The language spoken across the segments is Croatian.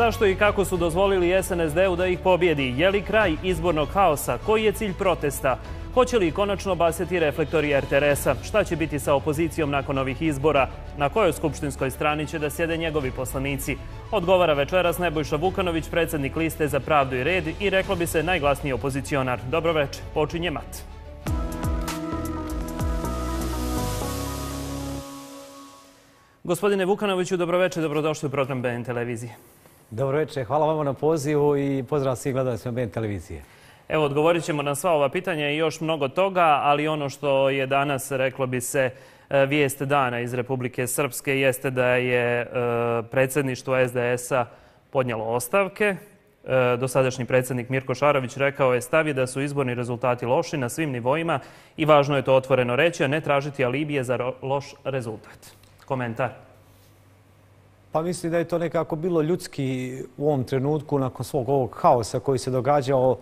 Zašto i kako su dozvolili SNSD-u da ih pobjedi? Je li kraj izbornog haosa? Koji je cilj protesta? Hoće li konačno basiti reflektori RTS-a? Šta će biti sa opozicijom nakon ovih izbora? Na kojoj skupštinskoj strani će da sjede njegovi poslanici? Odgovara večeras Nebojša Vukanović, predsjednik liste Za pravdu i red i reklo bi se najglasniji opozicionar. Dobro večer, počinje Mat. Gospodine Vukanoviću, dobro večer, dobrodošli u program BN televizije. Dobro večer, hvala vama na pozivu i pozdrav svih gledalcima BN televizije. Evo, odgovorit ćemo na sva ova pitanja i još mnogo toga, ali ono što je danas, reklo bi se, vijest dana iz Republike Srpske jeste da je predsjedništvo SDS-a podnijelo ostavke. Dosadašnji predsjednik Mirko Šarović rekao je stavi da su izborni rezultati loši na svim nivoima i važno je to otvoreno reći, a ne tražiti alibije za loš rezultat. Komentar? Pa mislim da je to nekako bilo ljudski u ovom trenutku nakon svog ovog haosa koji se događao.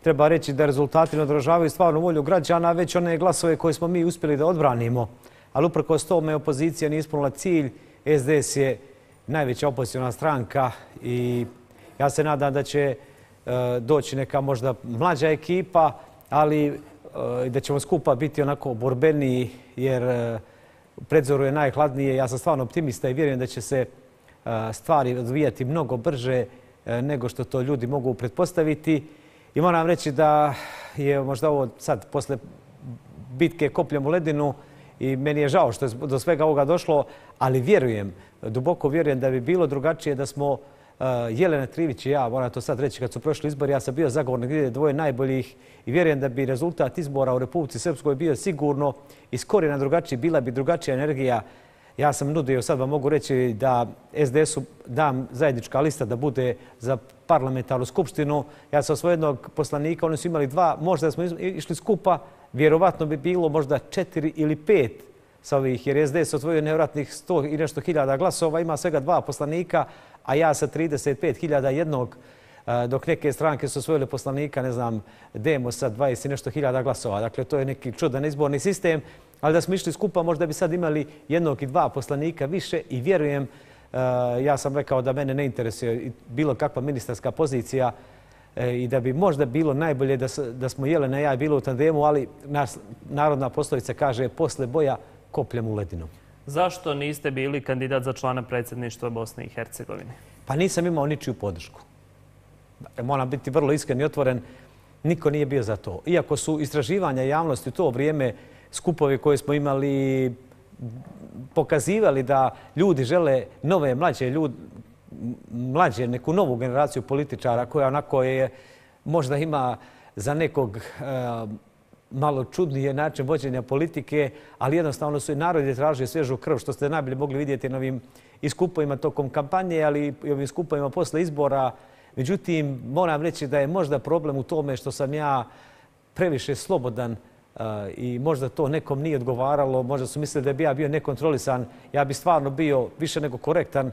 Treba reći da rezultati ne odražavaju stvarnu volju građana, već one glasove koje smo mi uspjeli da odbranimo. Ali uprkos tome opozicija nije ispunila cilj. SDS je najveća opoziciona stranka i ja se nadam da će doći neka možda mlađa ekipa, ali da ćemo skupa biti onako borbeniji jer predzoru je najhladnije. Ja sam stvarno optimista i vjerujem da će se stvari odvijati mnogo brže nego što to ljudi mogu pretpostaviti. I moram reći da je možda ovo sad posle bitke kopljem u ledinu i meni je žao što je do svega ovoga došlo, ali vjerujem, duboko vjerujem da bi bilo drugačije da smo Jelena Trivić i ja, moram to sad reći, kad su prošli izbori, ja sam bio zagovornik dvoje najboljih i vjerujem da bi rezultat izbora u Republici Srpskoj bio sigurno iz korijena drugačiji, bila bi drugačija energija. Ja sam nudio, sad vam mogu reći da SDS-u dam zajednička lista da bude za parlamentarnu skupštinu. Ja sam osvojio jednog poslanika, oni su imali dva, možda smo išli skupa, vjerovatno bi bilo možda 4 ili 5 sa ovih, jer SDS osvojio nevjerojatnih 100 i nešto hiljada glasova, ima svega 2 poslanika, a ja sa 35.000 jednog, dok neke stranke su osvojile poslanika, ne znam, Demos sa 20 i nešto hiljada glasova. Dakle, to je neki čudan izborni sistem, ali da smo išli skupa možda bi sad imali jednog i 2 poslanika više i vjerujem, ja sam rekao da mene ne interesuje bilo kakva ministarska pozicija i da bi možda bilo najbolje da smo Jelena i ja bilo u tandemu, ali narodna poslovica kaže posle boja kopljem u ledinu. Zašto niste bili kandidat za člana predsjedništva Bosne i Hercegovine? Pa nisam imao ničiju podršku. Moram biti vrlo iskren i otvoren, niko nije bio za to. Iako su istraživanja javnosti u to vrijeme, skupovi koje smo imali, pokazivali da ljudi žele nove, mlađe, neku novu generaciju političara koja onako je, možda ima za nekog malo čudnije način vođenja politike, ali jednostavno su i narod je tražio svježu krv, što ste najbolje mogli vidjeti na ovim iskupovima tokom kampanje, ali i ovim skupovima posle izbora. Međutim, moram reći da je možda problem u tome što sam ja previše slobodan i možda to nekom nije odgovaralo, možda su mislili da bi ja bio nekontrolisan. Ja bi stvarno bio više nego korektan.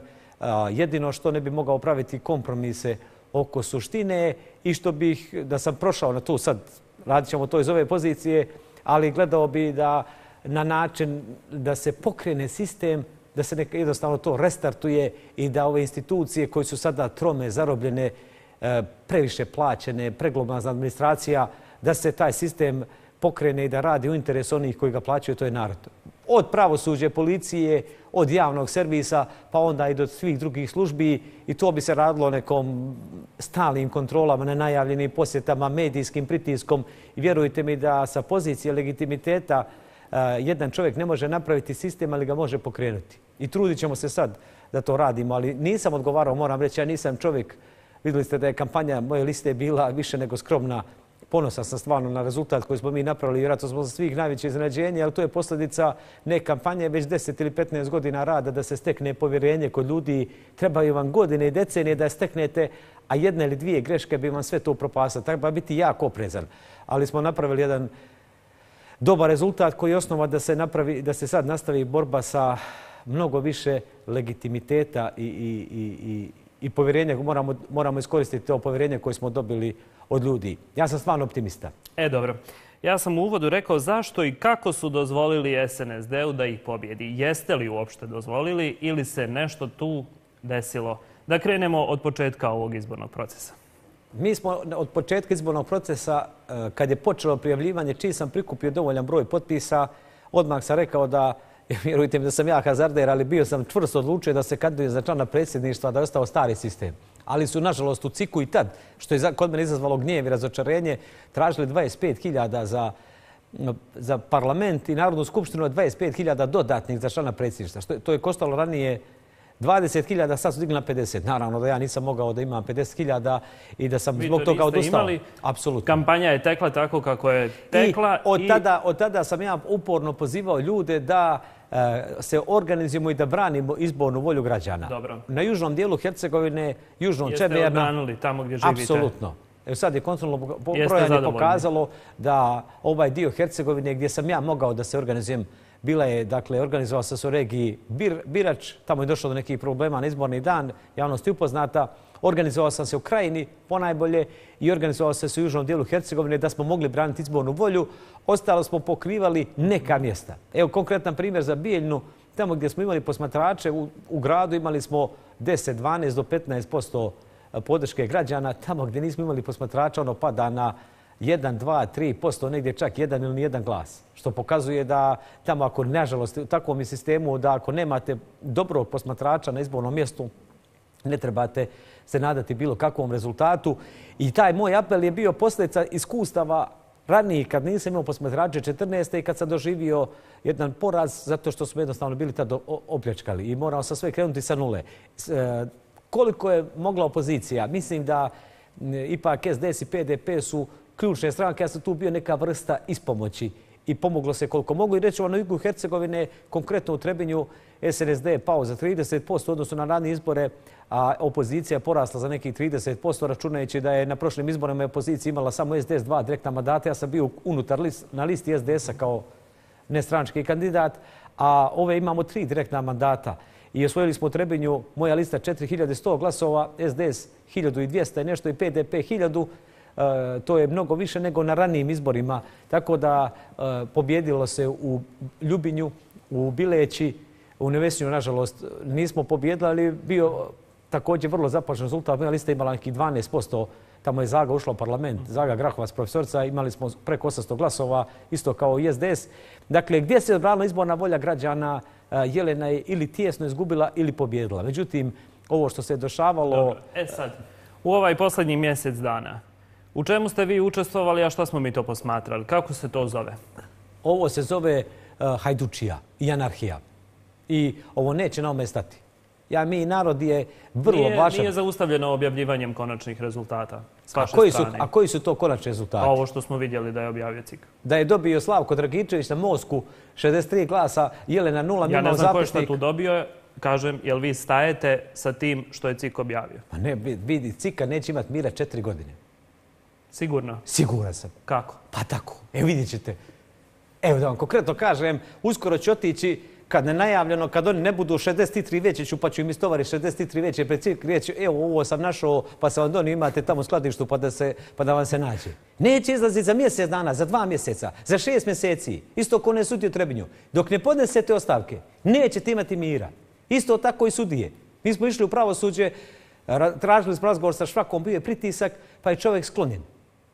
Jedino što ne bi mogao praviti kompromise oko suštine i što bih, da sam prošao na tu, sad radit ćemo to iz ove pozicije, ali gledao bi da na način da se pokrene sistem, da se jednostavno to restartuje i da ove institucije koje su sada trome, zarobljene, previše plaćene, preglomazna administracija, da se taj sistem pokrene i da radi u interesu onih koji ga plaćaju, to je narod. Od pravosuđa, policije, od javnog servisa, pa onda i do svih drugih službi i to bi se radilo nekom stalnim kontrolama, nenajavljenim posjetama, medijskim pritiskom i vjerujte mi da sa pozicije legitimiteta jedan čovjek ne može napraviti sistem, ali ga može pokrenuti. I trudit ćemo se sad da to radimo, ali nisam odgovarao, moram reći, ja nisam čovjek, vidjeli ste da je kampanja moje liste bila više nego skromna. Ponosan sam stvarno na rezultat koji smo mi napravili, vjerojatno smo za svih najveće iznenađenje, ali to je posljedica ne kampanje, već 10 ili 15 godina rada da se stekne povjerenje kod ljudi. Trebaju vam godine i decenije da je steknete, a 1 ili 2 greške bi vam sve to upropastile. Treba biti jako oprezan. Ali smo napravili jedan dobar rezultat koji je osnova da se sad nastavi borba sa mnogo više legitimiteta i povjerenja. Moramo iskoristiti to povjerenje koje smo dobili od ljudi. Ja sam stvarno optimista. Dobro. Ja sam u uvodu rekao zašto i kako su dozvolili SNSD-u da ih pobjedi. Jeste li uopšte dozvolili ili se nešto tu desilo Da krenemo od početka ovog izbornog procesa. Mi smo od početka izbornog procesa, kad je počelo prijavljivanje, čim sam prikupio dovoljan broj potpisa, odmah sam rekao da, vjerujte mi da sam ja hazarder, ali bio sam čvrsto odlučio da se kandidujem za člana predsjedništva, da je ostao stari sistem. Ali su, nažalost, u CIK-u i tad, što je kod mene izazvalo gnjev i razočarenje, tražili 25.000 za parlament i Narodnu skupštinu, 25.000 dodatnih za člana predsjedništva. To je koštalo ranije 20.000, sad su digli na 50. Naravno da ja nisam mogao da imam 50.000 i da sam zbog toga odustao. Apsolutno. Kampanja je tekla tako kako je tekla. Od tada sam ja uporno pozivao ljude da se organizujemo i da branimo izbornu volju građana. Dobro. Na južnom dijelu Hercegovine, južnom Čemerna... Jeste odbranili tamo gdje živite? Apsolutno. Evo sad je kontrolno brojanje pokazalo da ovaj dio Hercegovine gdje sam ja mogao da se organizujem, bila je, dakle, organizovao sam se u regiji Birač, tamo je došlo do nekih problema na izborni dan, javnost je upoznata. Organizovao sam se u Krajini ponajbolje i organizovao sam se u južnom dijelu Hercegovine da smo mogli braniti izbornu volju. Ostalo smo pokrivali neka mjesta. Evo konkretan primjer za Bijeljnu, tamo gdje smo imali posmatrače u gradu imali smo 10, 12 do 15% podrške građana. Tamo gdje nismo imali posmatrača ono pada na 1, 2, 3%, negdje čak 1 ili nijedan glas. Što pokazuje da tamo ako, nažalost, u takvom je sistemu da ako nemate dobrog posmatrača na izbornom mjestu, ne trebate se nadati bilo kakvom rezultatu. I taj moj apel je bio posljedica iskustava ranije kad nisam imao posmatrače 14. i kad sam doživio jedan poraz zato što smo jednostavno bili tada opljačkali i morao sam sve krenuti sa nule. Koliko je mogla opozicija? Mislim da ipak SDS i PDP su ključne stranke. Ja sam tu bio neka vrsta ispomoći i pomoglo se koliko mogu. I reći na jugu Hercegovine, konkretno u Trebinju, SNSD je pao za 30% odnosno na ranije izbore, a opozicija je porasla za nekih 30%, računajući da je na prošlim izborima opozicija imala samo SDS 2 direktna mandata. Ja sam bio unutar na listi SDS-a kao nestranački kandidat, a ove imamo 3 direktna mandata. I osvojili smo u Trebinju, moja lista 4100 glasova, SDS 1200 i nešto i PDP 1000. To je mnogo više nego na ranijim izborima. Tako da pobjedilo se u Ljubinju, u Bileći, u Nevesnju, nažalost, nismo pobjedili, ali bio također vrlo zapažen rezultat. Moja lista imala nekih 12%. Tamo je Zaga ušla u parlament. Zaga Grahovac, profesorica, imali smo preko 800 glasova, isto kao i SDS. Dakle, gdje se odbranila izborna volja građana, Jelena je ili tijesno izgubila ili pobjedila. Međutim, ovo što se dešavalo... Dobro. Sad, u ovaj posljednji mjesec dana, u čemu ste vi učestvovali, a što smo mi to posmatrali? Kako se to zove? Ovo se zove hajdučija i anarhija. I ovo neće na ome stati. Mi narod je vrlo važan. Nije zaustavljeno objavljivanjem konačnih rezultata s vaše strane. A koji su to konačni rezultati? Ovo što smo vidjeli da je objavio CIK. Da je dobio Slavko Dragičević na Mosku 63 glasa, Jelena 0, ja ne znam ko je što tu dobio. Kažem, jel vi stajete sa tim što je CIK objavio? Pa ne, vidi, CIK-a neće imati mira 4 godine. Sigurno? Siguran sam. Kako? Pa tako. Evo vidjet ćete. Evo da vam konkretno kažem, uskoro ću otići kad nenajavljeno, kad oni ne budu 63 veće, pa ću im istovari 63 veće pred CIK reći, evo ovo sam našao, pa se vam donio, imate tamo u skladištu pa da vam se nađe. Neće izlaziti za mjesec dana, za 2 mjeseca, za 6 mjeseci. Isto ko ne sudi u Trebinju. Dok ne podnesete ostavke, nećete imati mira. Isto tako i sudije. Mi smo išli u pravosuđe, tražili smo razgovor sa Švakom, bio je pritisak, pa je čovjek sklonjen.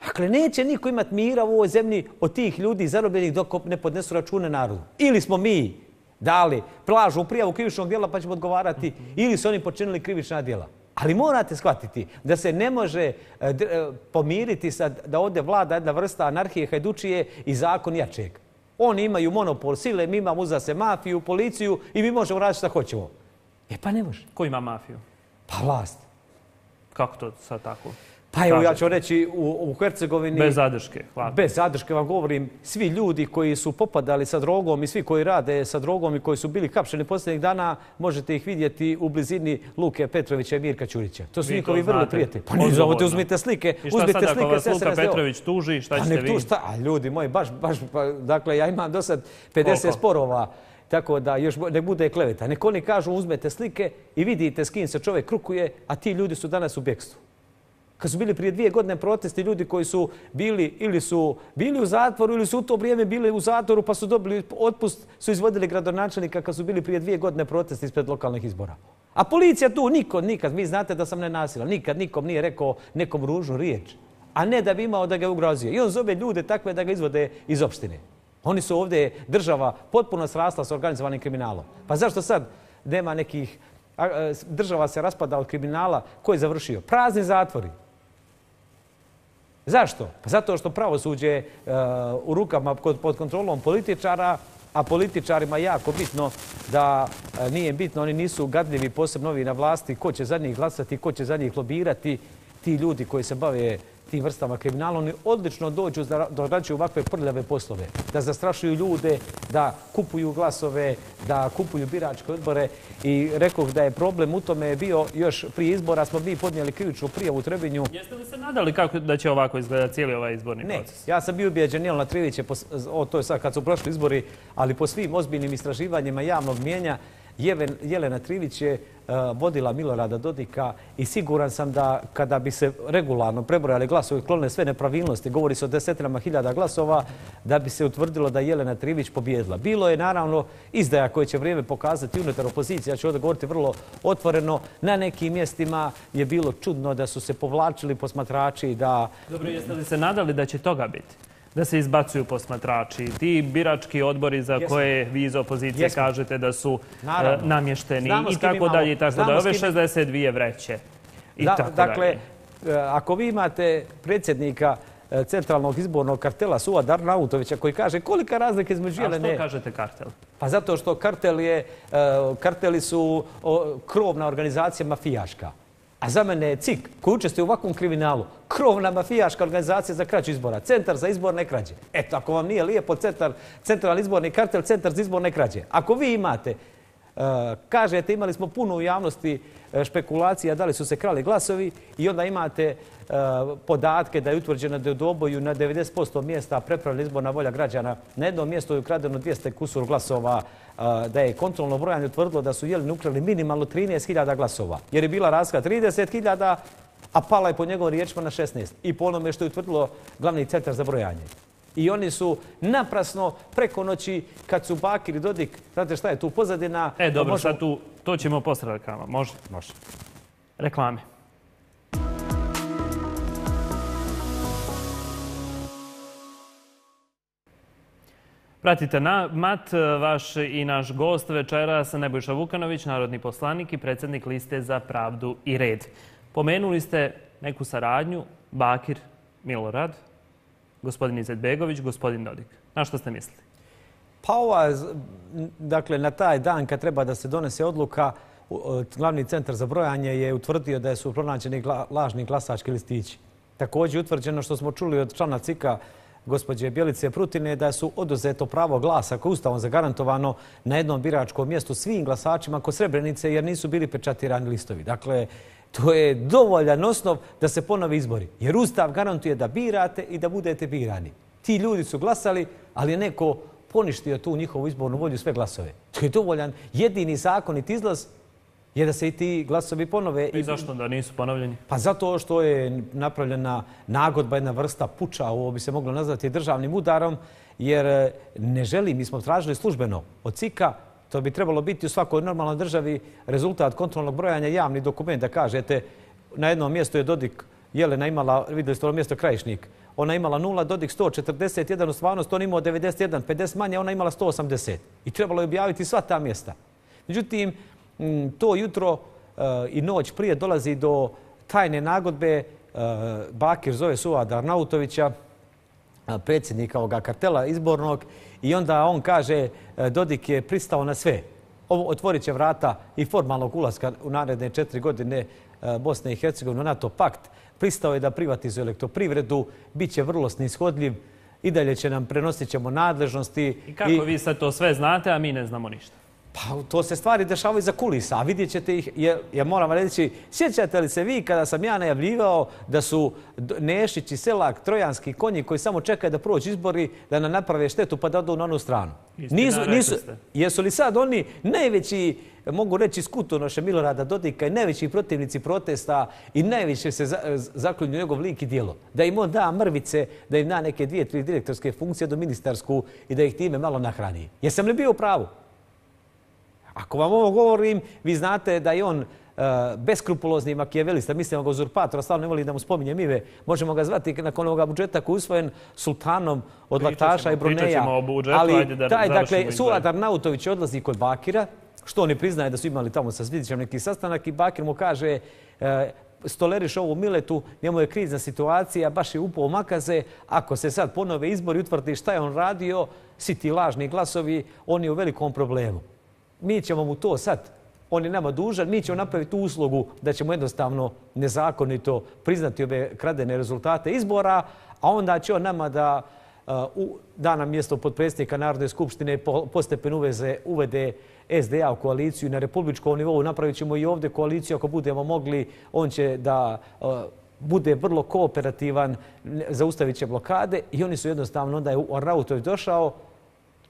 Dakle, neće niko imati mira u ovoj zemlji od tih ljudi zarobljenih dok ne podnesu račune narodu. Ili smo mi dali plažu u prijavu krivičnog djela pa ćemo odgovarati, ili su oni počinili krivična djela. Ali morate shvatiti da se ne može pomiriti da ovdje vlada jedna vrsta anarhije, hajdučije i zakon jačeg. Oni imaju monopol sile, mi imamo uza se mafiju, policiju i mi možemo raditi šta hoćemo. Pa ne može. Ko ima mafiju? Pa vlast. Kako to sad tako? Pa evo ja ću reći u Hercegovini... Bez zadrške, hvala. Bez zadrške vam govorim, svi ljudi koji su popadali sa drogom i svi koji rade sa drogom i koji su bili hapšeni posljednjih dana, možete ih vidjeti u blizini Luke Petrovića i Mirka Ćurića. To su njihovi vrlo prijatelji. Pa ne zovete, uzmite slike. I šta sad ako vas Luka Petrović tuži, šta ćete vi? A ljudi moji, baš, dakle ja imam do sad 50 sporova. Tako da još ne bude kleveta. Nek oni kažu uzmete slike i vidite s kim se čovjek krukuje, a ti ljudi su danas u bekstvu. Kad su bili prije 2 godine protesti, ljudi koji su bili ili su bili u zatvoru ili su u to vrijeme bili u zatvoru pa su dobili otpust, su izvodili gradonačelnika kad su bili prije 2 godine protesti ispred lokalnih izbora. A policija tu nikad, vi znate da sam nenasilan, nikad nikom nije rekao nekom ružnu riječ, a ne da bi imao da ga ugrozio. I on zove ljude takve da ga izvode iz opštine. Oni su ovdje, država potpuno srasla s organizovanim kriminalom. Pa zašto sad nema nekih, država se raspada od kriminala, ko je završio? Prazni zatvori. Zašto? Pa zato što pravosuđe u rukama pod kontrolom političara, a političarima jako bitno da nije bitno, oni nisu gadljivi, posebno ovi na vlasti, ko će za njih glasati, ko će za njih lobirati. Ti ljudi koji se bave tim vrstama kriminala, oni odlično dođu da odrađuju ovakve prljave poslove, da zastrašuju ljude, da kupuju glasove, da kupuju biračke odbore. I rekoh da je problem u tome bio još prije izbora, smo mi podnijeli krivičnu prijavu u Trebinju. Jeste li se nadali kako da će ovako izgledati cijeli ovaj izborni proces? Ne, ja sam bio ubijeđen, Jelena Trivić je, to je sad kad su prošli izbori, ali po svim ozbiljnim istraživanjima javnog mijenja, Jelena Trivić je vodila Milorada Dodika i siguran sam da kada bi se regularno prebrojali glasovi, klone sve nepravilnosti, govori se o desetinama hiljada glasova, da bi se utvrdilo da je Jelena Trivić pobjedila. Bilo je naravno izdaja koje će vrijeme pokazati unutar opozicije, ja ću ovdje govoriti vrlo otvoreno, na nekim mjestima je bilo čudno da su se povlačili posmatrači, da... Dobro, jeste li se nadali da će toga biti? Da se izbacuju posmatrači, ti birački odbori za koje vi iz opozicije kažete da su namješteni i tako dalje i tako dalje. Ove 62 vreće i tako dalje. Dakle, ako vi imate predsjednika centralnog izbornog kartela Suada Arnautovića koji kaže kolika razlika između Jelene... A što kažete kartel? Pa zato što karteli su krovna organizacija mafijaška. A za mene je CIK, koji učestvuje u ovakvom kriminalu, krovna mafijaška organizacija za krađu izbora, centar za izborne krađe. Eto, ako vam nije lijepo centralni izborni kartel, centar za izborne krađe. Ako vi imate, kažete, imali smo puno u javnosti špekulacija da li su se krali glasovi i onda imate podatke da je utvrđeno da je u Doboju na 90% mjesta prepravljena izborna volja građana. Na jednom mjestu je ukradeno 200 kusur glasova, da je kontrolno brojanje utvrdilo da su Jeleni ukrali minimalno 13.000 glasova. Jer je bila razlika 30.000, a pala je po njegovim riječima na 16. I po onome što je utvrdilo glavni centar za brojanje. I oni su naprasno preko noći, kad su Bakir i Dodik, znate šta je tu pozadina... Dobro, sad to ćemo posle reklama. Može? Može. Reklame. Pratite Mat, vaš i naš gost večeras, Nebojša Vukanović, narodni poslanik i predsjednik Liste za pravdu i red. Pomenuli ste neku saradnju, Bakir, Milorad, gospodin Izetbegović, gospodin Dodik. Na što ste mislili? Pa dakle, na taj dan kad treba da se donese odluka, glavni centar za brojanje je utvrdio da su pronađeni lažni glasački listići. Također je utvrđeno što smo čuli od člana CIK-a gospođe Bjelice Prutine da su oduzeto pravo glasa koje je Ustavom zagarantovano na jednom biračkom mjestu svim glasačima kod Srebrenice jer nisu bili pečatirani listovi. Dakle, to je dovoljan osnov da se ponovi izbori. Jer Ustav garantuje da birate i da budete birani. Ti ljudi su glasali, ali je neko poništio tu njihovu izbornu volju sve glasove. To je dovoljan jedini zakonit izlaz je da se i ti glasovi ponove. I zašto da nisu ponovljeni? Pa zato što je napravljena nagodba, jedna vrsta puča, ovo bi se moglo nazvati državnim udarom, jer ne želi, mi smo tražili službeno od CIK-a, to bi trebalo biti u svakoj normalnoj državi rezultat kontrolnog brojanja, javni dokument da kažete na jednom mjestu je Dodik, Jelena imala, vidjeli ste ovo mjesto Krajišnik, ona imala 0, Dodik 141, u stvarnosti on imao 91, 50 manje, ona imala 180. I trebalo je objaviti sva ta mjesta. Međutim, to jutro i noć prije dolazi do tajne nagodbe. Bakir zove Suada Arnautovića, predsjednika ovoga kartela izbornog, i onda on kaže Dodik je pristao na sve. Ovo otvorit će vrata i formalnog ulaska u naredne 4 godine Bosne i Hercegovine u NATO pakt. Pristao je da privatizuje elektroprivredu, bit će vrlo snishodljiv, i dalje će nam prenosit ćemo nadležnosti. I kako vi sad to sve znate, a mi ne znamo ništa? Pa to se stvari dešavaju za kulisa, a vidjet ćete ih, ja moram reći, sjećate li se vi kada sam ja najavljivao da su Nešić i Selak trojanski konji koji samo čekaju da prođu izbori, da nam naprave štetu pa da odu na onu stranu? Jesu li sad oni najveći, mogu reći, skutonoše Milorada Dodika i najveći protivnici protesta i najviše se zaklinju njegov lik i djelo? Da im on da mrvice, da im da neke 2-3 direktorske funkcije do ministarsku i da ih time malo nahrani. Jesam li bio u pravu? Ako vam ovo govorim, vi znate da je on beskrupulozni makijavelista, mislim ga uzurpatora, stalno ne voli da mu spominjem ime, možemo ga zvati nakon ovoga budžeta koji je usvojen sultanom od laktaša i Bruneja. Pričat ćemo o budžetu, ajde da završimo. Dakle, Suad Arnautović odlazi kod Bakira, što oni priznaje da su imali tamo sa Svidićem neki sastanak i Bakir mu kaže stoleriš ovu Miletu, njemu je krizna situacija, baš je upao u makaze, ako se sad ponove izbori utvrdi šta je on radio, svi ti lažni glasovi, on je u velikom problemu. Mi ćemo mu to sad, on je nama dužan, mi ćemo napraviti tu uslugu da ćemo jednostavno nezakonito priznati ove kradene rezultate izbora, a onda će on nama da nam mjesto potpredsjednika Narodne skupštine postepeno uvede SDA u koaliciju na republičkom nivou. Napravit ćemo i ovdje koaliciju ako budemo mogli. On će da bude vrlo kooperativan, zaustavit će blokade i oni su jednostavno, onda je Arnautović došao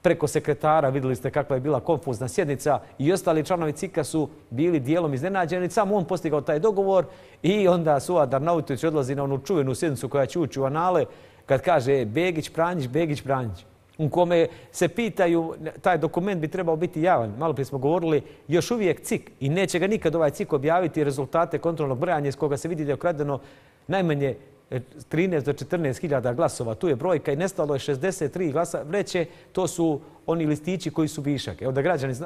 preko sekretara, vidjeli ste kakva je bila konfuzna sjednica i ostali članovi CIK-a su bili dijelom iznenađeni. Samo on postigao taj dogovor i onda Suad Arnautović odlazi na onu čuvenu sjednicu koja će ući u anale kad kaže Begić, Pranjić, Begić, Pranjić. U kome se pitaju, taj dokument bi trebao biti javan. Malo prije smo govorili, još uvijek CIK i neće ga nikad ovaj CIK objaviti rezultate kontrolnog brojanja iz koga se vidi da je ukradeno najmanje 13 do 14 hiljada glasova. Tu je brojka i nestalo je 63 glasa vreće. To su oni listići koji su višak. Evo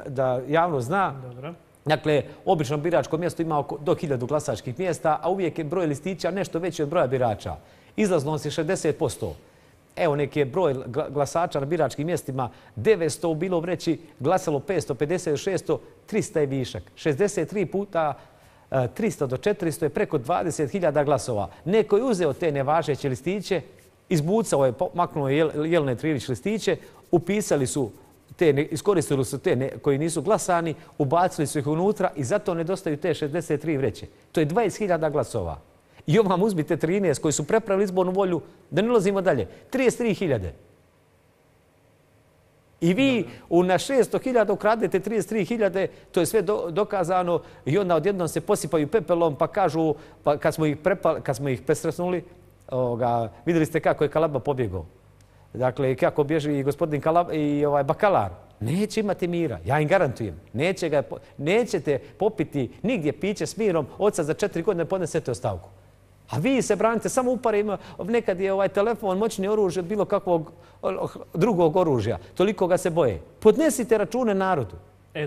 da javnost zna. Dobro. Dakle, obično biračko mjesto ima do 1000 glasačkih mjesta, a uvijek je broj listića nešto veći od broja birača. Izlaznost je 60%. Evo neki je broj glasača na biračkim mjestima 900 u bilo vreći, glasalo 550, 600, 300 je višak. 63 puta 300 do 400 je preko 20.000 glasova. Neko je uzeo te nevažeće listiće, izbucao je, maknuo je Jelene Trilić listiće, upisali su iskoristili su te koji nisu glasani, ubacili su ih unutra i zato nedostaju te 63 vreće. To je 20.000 glasova. I ovo vam uzmite 13 koji su prepravili izbornu volju, da ne ulazimo dalje. 33.000. I vi na 600.000 ukradete 33.000, to je sve dokazano i onda odjednom se posipaju pepelom pa kažu, kad smo ih presretnuli, vidjeli ste kako je Kalaba pobjegao. Dakle, kako bježi i gospodin Bakalar. Neće imati mira, ja im garantujem. Nećete popiti nigdje piće s mirom, oca za 4 godine podnesete ostavku. A vi se branite samo uparima, nekad je telefon, moćni oružje od bilo kakvog drugog oružja. Toliko ga se boje. Podnesite račune narodu.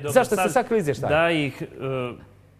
Zašto ste sakrili izvještaj? Da ih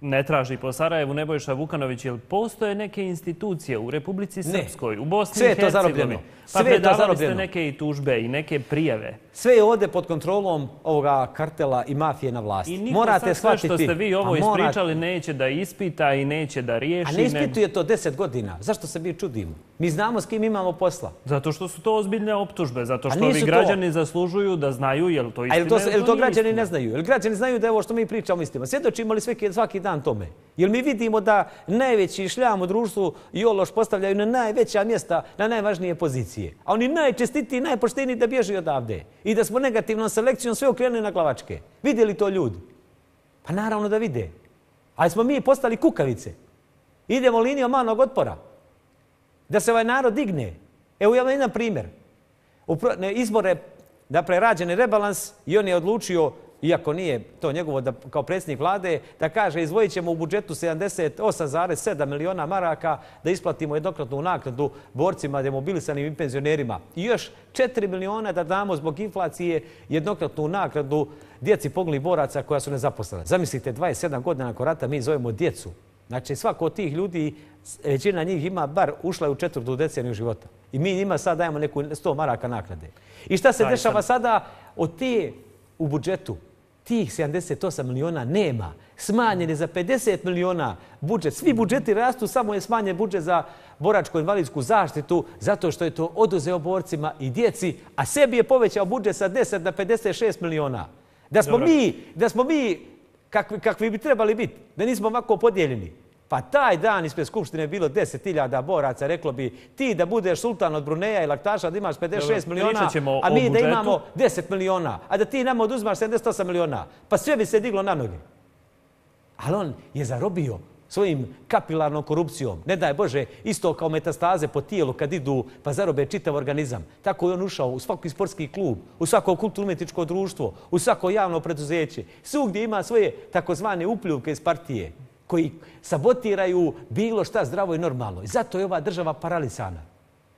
ne traži po Sarajevu Nebojša Vukanović, jer postoje neke institucije u Republici Srpskoj, u Bosni i Hercegovini. Pa predavali ste neke i tužbe i neke prijave. Sve je ovdje pod kontrolom ovoga kartela i mafije na vlasti. I niko sad sve što ste vi ovo ispričali neće da ispita i neće da riješi. A ne ispituje to 10 godina. Zašto se mi čudimo? Mi znamo s kim imamo posla. Zato što su to ozbiljne optužbe. Zato što ovi građani zaslužuju da znaju je li to istina ili to nije istina. Je li to građani ne znaju? Je li građani znaju da je ovo što mi pričamo istina? Svjedočimo li svaki dan tome? Jer mi vidimo da najveći šljam u društvu i ološ postavljaju na najveća mjesta, na najvažnije pozicije. A oni najčestitiji, najpošteniji da bježi odavde. I da smo negativnom selekcijom sve okrenuli na glavačke. Vide li to ljudi? Pa naravno da vide. Ali smo mi postali kukavice. Idemo linijom malog otpora. Da se ovaj narod digne. Evo ja vam jedan primjer. Izbore, dakle, rađen je rebalans i on je odlučio, iako nije to njegovo kao predsjednik vlade, da kaže izdvojit ćemo u budžetu 78,7 miliona maraka da isplatimo jednokratnu naknadu borcima, demobilisanim i penzionerima. I još 4 miliona da damo zbog inflacije jednokratnu naknadu djeci poginulih boraca koja su nezaposlena. Zamislite, 27 godina nakon rata mi zovemo djecu. Znači, svako od tih ljudi, većina njih ima bar ušla je u 4. deceniju života. I mi njima sad dajemo neku 100 maraka naknade. I šta se dešava sada? Od te u budžetu tih 78 miliona nema. Smanjen je za 50 miliona budžet. Svi budžeti rastu, samo je smanjen budžet za boračko-invalidsku zaštitu zato što je to oduzeo borcima i djeci, a sebi je povećao budžet sa 10 na 56 miliona. Da smo mi kakvi bi trebali biti, da nismo ovako podijeljeni. Pa taj dan ispred Skupštine je bilo 10.000 boraca, reklo bi ti da budeš sultan od Bruneja i laktaša da imaš 56 miliona, a mi da imamo 10 miliona, a da ti nama oduzimaš 78 miliona. Pa sve bi se diglo na noge. Ali on je zarobio svojim kapilarnom korupcijom. Ne daj Bože, isto kao metastaze po tijelu kad idu pa zarobe čitav organizam. Tako je on ušao u svaki sportski klub, u svako kulturno-umjetničko društvo, u svako javno preduzeće. Svugdje ima svoje takozvane upljuvke iz partije koji sabotiraju bilo šta zdravo i normalno. I zato je ova država paralisana.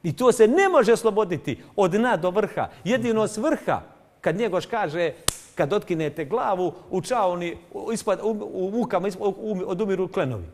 I to se ne može osloboditi od dna do vrha. Jedino s vrha, kad Njegoš kaže kad otkinete glavu, u čaoni, u mukama odumiru klenovi.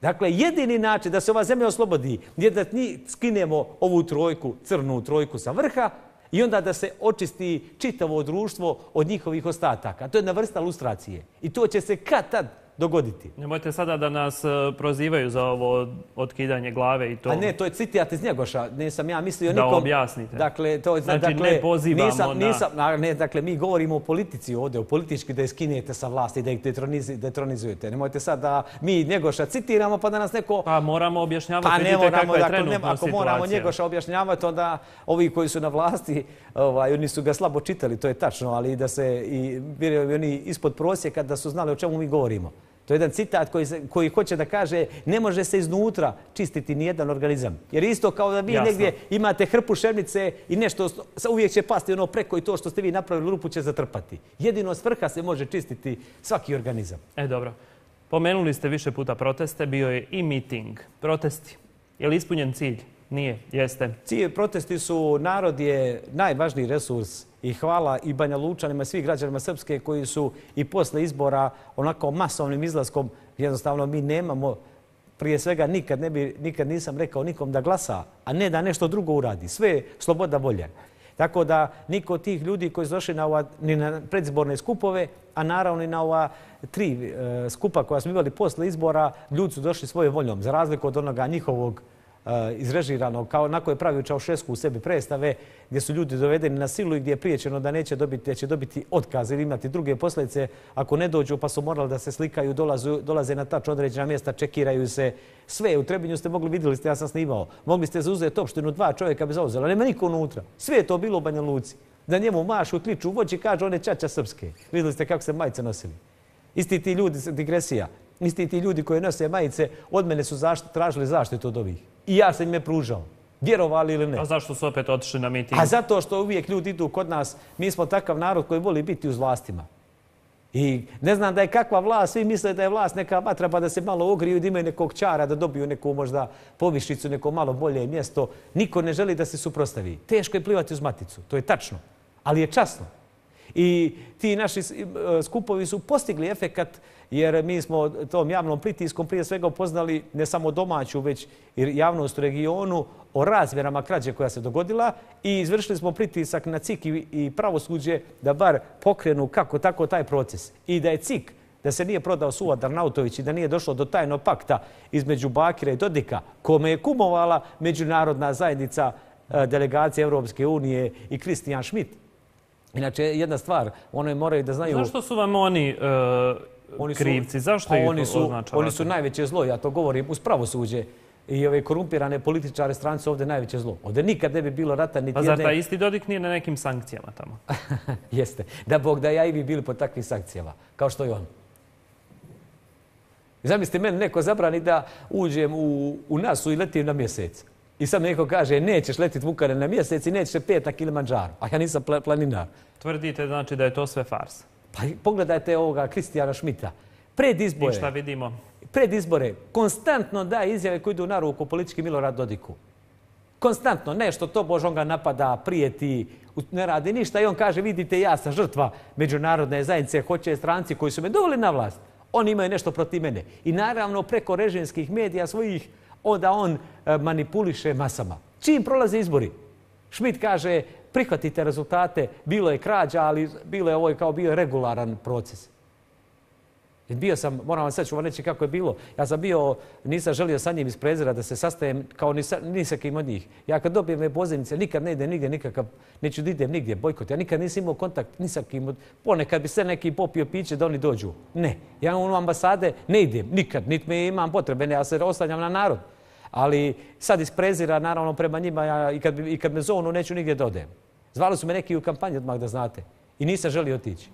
Dakle, jedini način da se ova zemlja oslobodi je da skinemo ovu trojku, crnu trojku sa vrha i onda da se očisti čitavo društvo od njihovih ostataka. To je jedna vrsta lustracije. I to će se kad tad dogoditi. Nemojte sada da nas prozivaju za ovo otkidanje glave i to. A ne, to je citat iz Njegoša. Nisam ja mislio da nikom. Da objasnite. Dakle, znači ne pozivamo na... Dakle, mi govorimo o politici ovdje, o politički da je skinete sa vlasti, da ih detronizujete. Nemojte sad da mi Njegoša citiramo pa da nas neko... Pa moramo objašnjavati, vidite kakva je trenutna situacija. Ako moramo Njegoša objašnjavati, onda ovi koji su na vlasti, oni su ga slabo čitali, to je tačno, ali da se i oni ispod prosjeka da su znali o čemu mi govorimo. To je jedan citat koji hoće da kaže ne može se iznutra čistiti nijedan organizam. Jer isto kao da vi negdje imate hrpu šernice i nešto uvijek će pasti ono preko i to što ste vi napravili rupu će zatrpati. Jedino s vrha se može čistiti svaki organizam. Dobro. Pomenuli ste više puta proteste, bio je i miting. Protesti. Je li ispunjen cilj? Nije. Jeste. Protesti su, narod je najvažniji resurs i hvala i Banja Lučanima i svih građanima Srpske koji su i posle izbora onako masovnim izlaskom, jednostavno mi nemamo, prije svega nikad nisam rekao nikom da glasa, a ne da nešto drugo uradi. Sve je sloboda volje. Tako da niko od tih ljudi koji su došli ni na predizborne skupove, a naravno i na ova 3 skupa koja smo imali posle izbora, ljudi su došli svojom voljom, za razliku od onoga njihovog izrežiranog, kao onako je pravio Čaušesku u sebi predstave, gdje su ljudi dovedeni na silu i gdje je priječeno da neće dobiti, da će dobiti otkaz ili imati druge posljedice ako ne dođu, pa su morali da se slikaju, dolaze na tačno određena mjesta, čekiraju se. Sve u Trebinju ste vidjeli ste, ja sam snimao, mogli ste zauzeti opštinu, 2 čovjeka bi zauzela, nema niko unutra. Sve je to bilo u Banja Luci. Da njemu mašu, kliču u voći i kažu on je ćaća srpske. Vidjeli ste kako se majice nosili. Isti ti ljudi, digresija, isti ti ljudi koji nose majice od mene su tražili zaštitu od ovih. I ja sam im je pružao. Vjerovali ili ne. A zašto su opet otišli na miting? A zato što uvijek ljudi idu kod nas. Mi smo takav narod koji voli biti uz vlastima. I ne znam da je kakva vlast, svi misle da je vlast neka vatra pa da se malo ogriju, da imaju nekog čara, da dobiju neku možda povišicu, neko malo bolje mjesto. Niko ne želi da se suprotstavi. Teško je plivati uz maticu, to je tačno. Ali je časno. I ti naši skupovi su postigli efekat jer mi smo tom javnom pritiskom prije svega upoznali ne samo domaću, već i javnost u regionu o razmjerama krađe koja se dogodila i izvršili smo pritisak na CIK i pravosuđe da bar pokrenu kako tako taj proces. I da je CIK, da se nije prodao Suad Arnautović i da nije došlo do tajnog pakta između Bakira i Dodika, kome je kumovala međunarodna zajednica delegacije Europske unije i Christian Schmidt. Inače, jedna stvar, oni moraju da znaju... Zašto su vam oni krivci? Zašto ih označavate? Oni su najveće zlo, ja to govorim, uz pravosuđe i ove korumpirane političare strane su ovdje najveće zlo. Ovdje nikad ne bi bilo rata niti jedne... Pa zar taj isti Dodik nije na nekim sankcijama tamo? Jeste. Da Bog da ja i vi bili pod takvim sankcijama, kao što je on. Zamislite, meni neko zabrani da uđem u NASU i letim na mjesec. I sad neko kaže, nećeš letiti Vukare na mjesec i nećeš se pet na Kilimanđaru. A ja nisam planinar. Tvrdite znači da je to sve farsa? Pa pogledajte ovoga Christiana Schmidta. Pred izbore... I šta vidimo? Pred izbore konstantno daje izjave koji idu na ruku politički Milorad Dodiku. Konstantno. Nešto to Bož on ga napada, prijeti, ne radi ništa. I on kaže, vidite, ja sam žrtva međunarodne zajednice, hoće stranci koji su me doveli na vlast. Oni imaju nešto protiv mene. I naravno preko režimskih medija svojih onda on manipuliše masama. Čim prolaze izbori? Schmidt kaže, prihvatite rezultate, bilo je krađa, ali bio je regularan proces. Bio sam, moram vam sad ću vam reći kako je bilo. Ja sam bio, nisam želio sa njim iz prezira da se sastajem kao ni sa kim od njih. Ja kad dobijem pozivnice, nikad ne idem nigdje nikakav, neću da idem nigdje, bojkot. Ja nikad nisam imao kontakt ni sa kim. Ponekad bi se neki popio piće da oni dođu. Ne. Ja u ambasade ne idem, nikad. Niti me imam potrebe, ja se oslanjam na narod. Ali sad iz prezira, naravno, prema njima, ja i kad me zovnu, neću nigdje da odem. Zvali su me neki u kampanji odmah da znate. I nisam želio otići.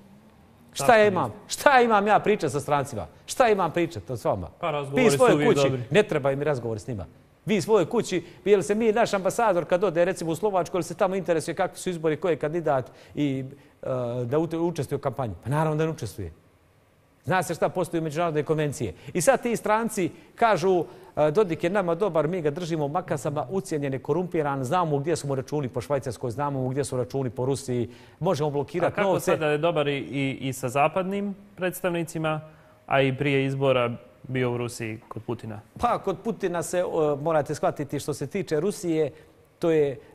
Šta imam ja pričati sa strancima? Šta imam pričati s vama? Pa razgovori su uvijek dobri. Ne treba mi razgovor s njima. Vi svojoj kući, jel se naš ambasador kad ode recimo u Slovačku, ili se tamo interesuje kakvi su izbori, koji je kandidat i da učestvuje u kampanji? Pa naravno da ne učestvuje. Zna se šta postoji u međunarodne konvencije. I sad ti stranci kažu Dodik je nama dobar, mi ga držimo u makasama, ucijenjen je, korumpiran, znamo gdje su mu računi po Švajcarskoj, znamo gdje su računi po Rusiji, možemo blokirati novce. A kako sada je dobar i sa zapadnim predstavnicima, a i prije izbora bio u Rusiji kod Putina? Pa kod Putina se, morate shvatiti što se tiče Rusije,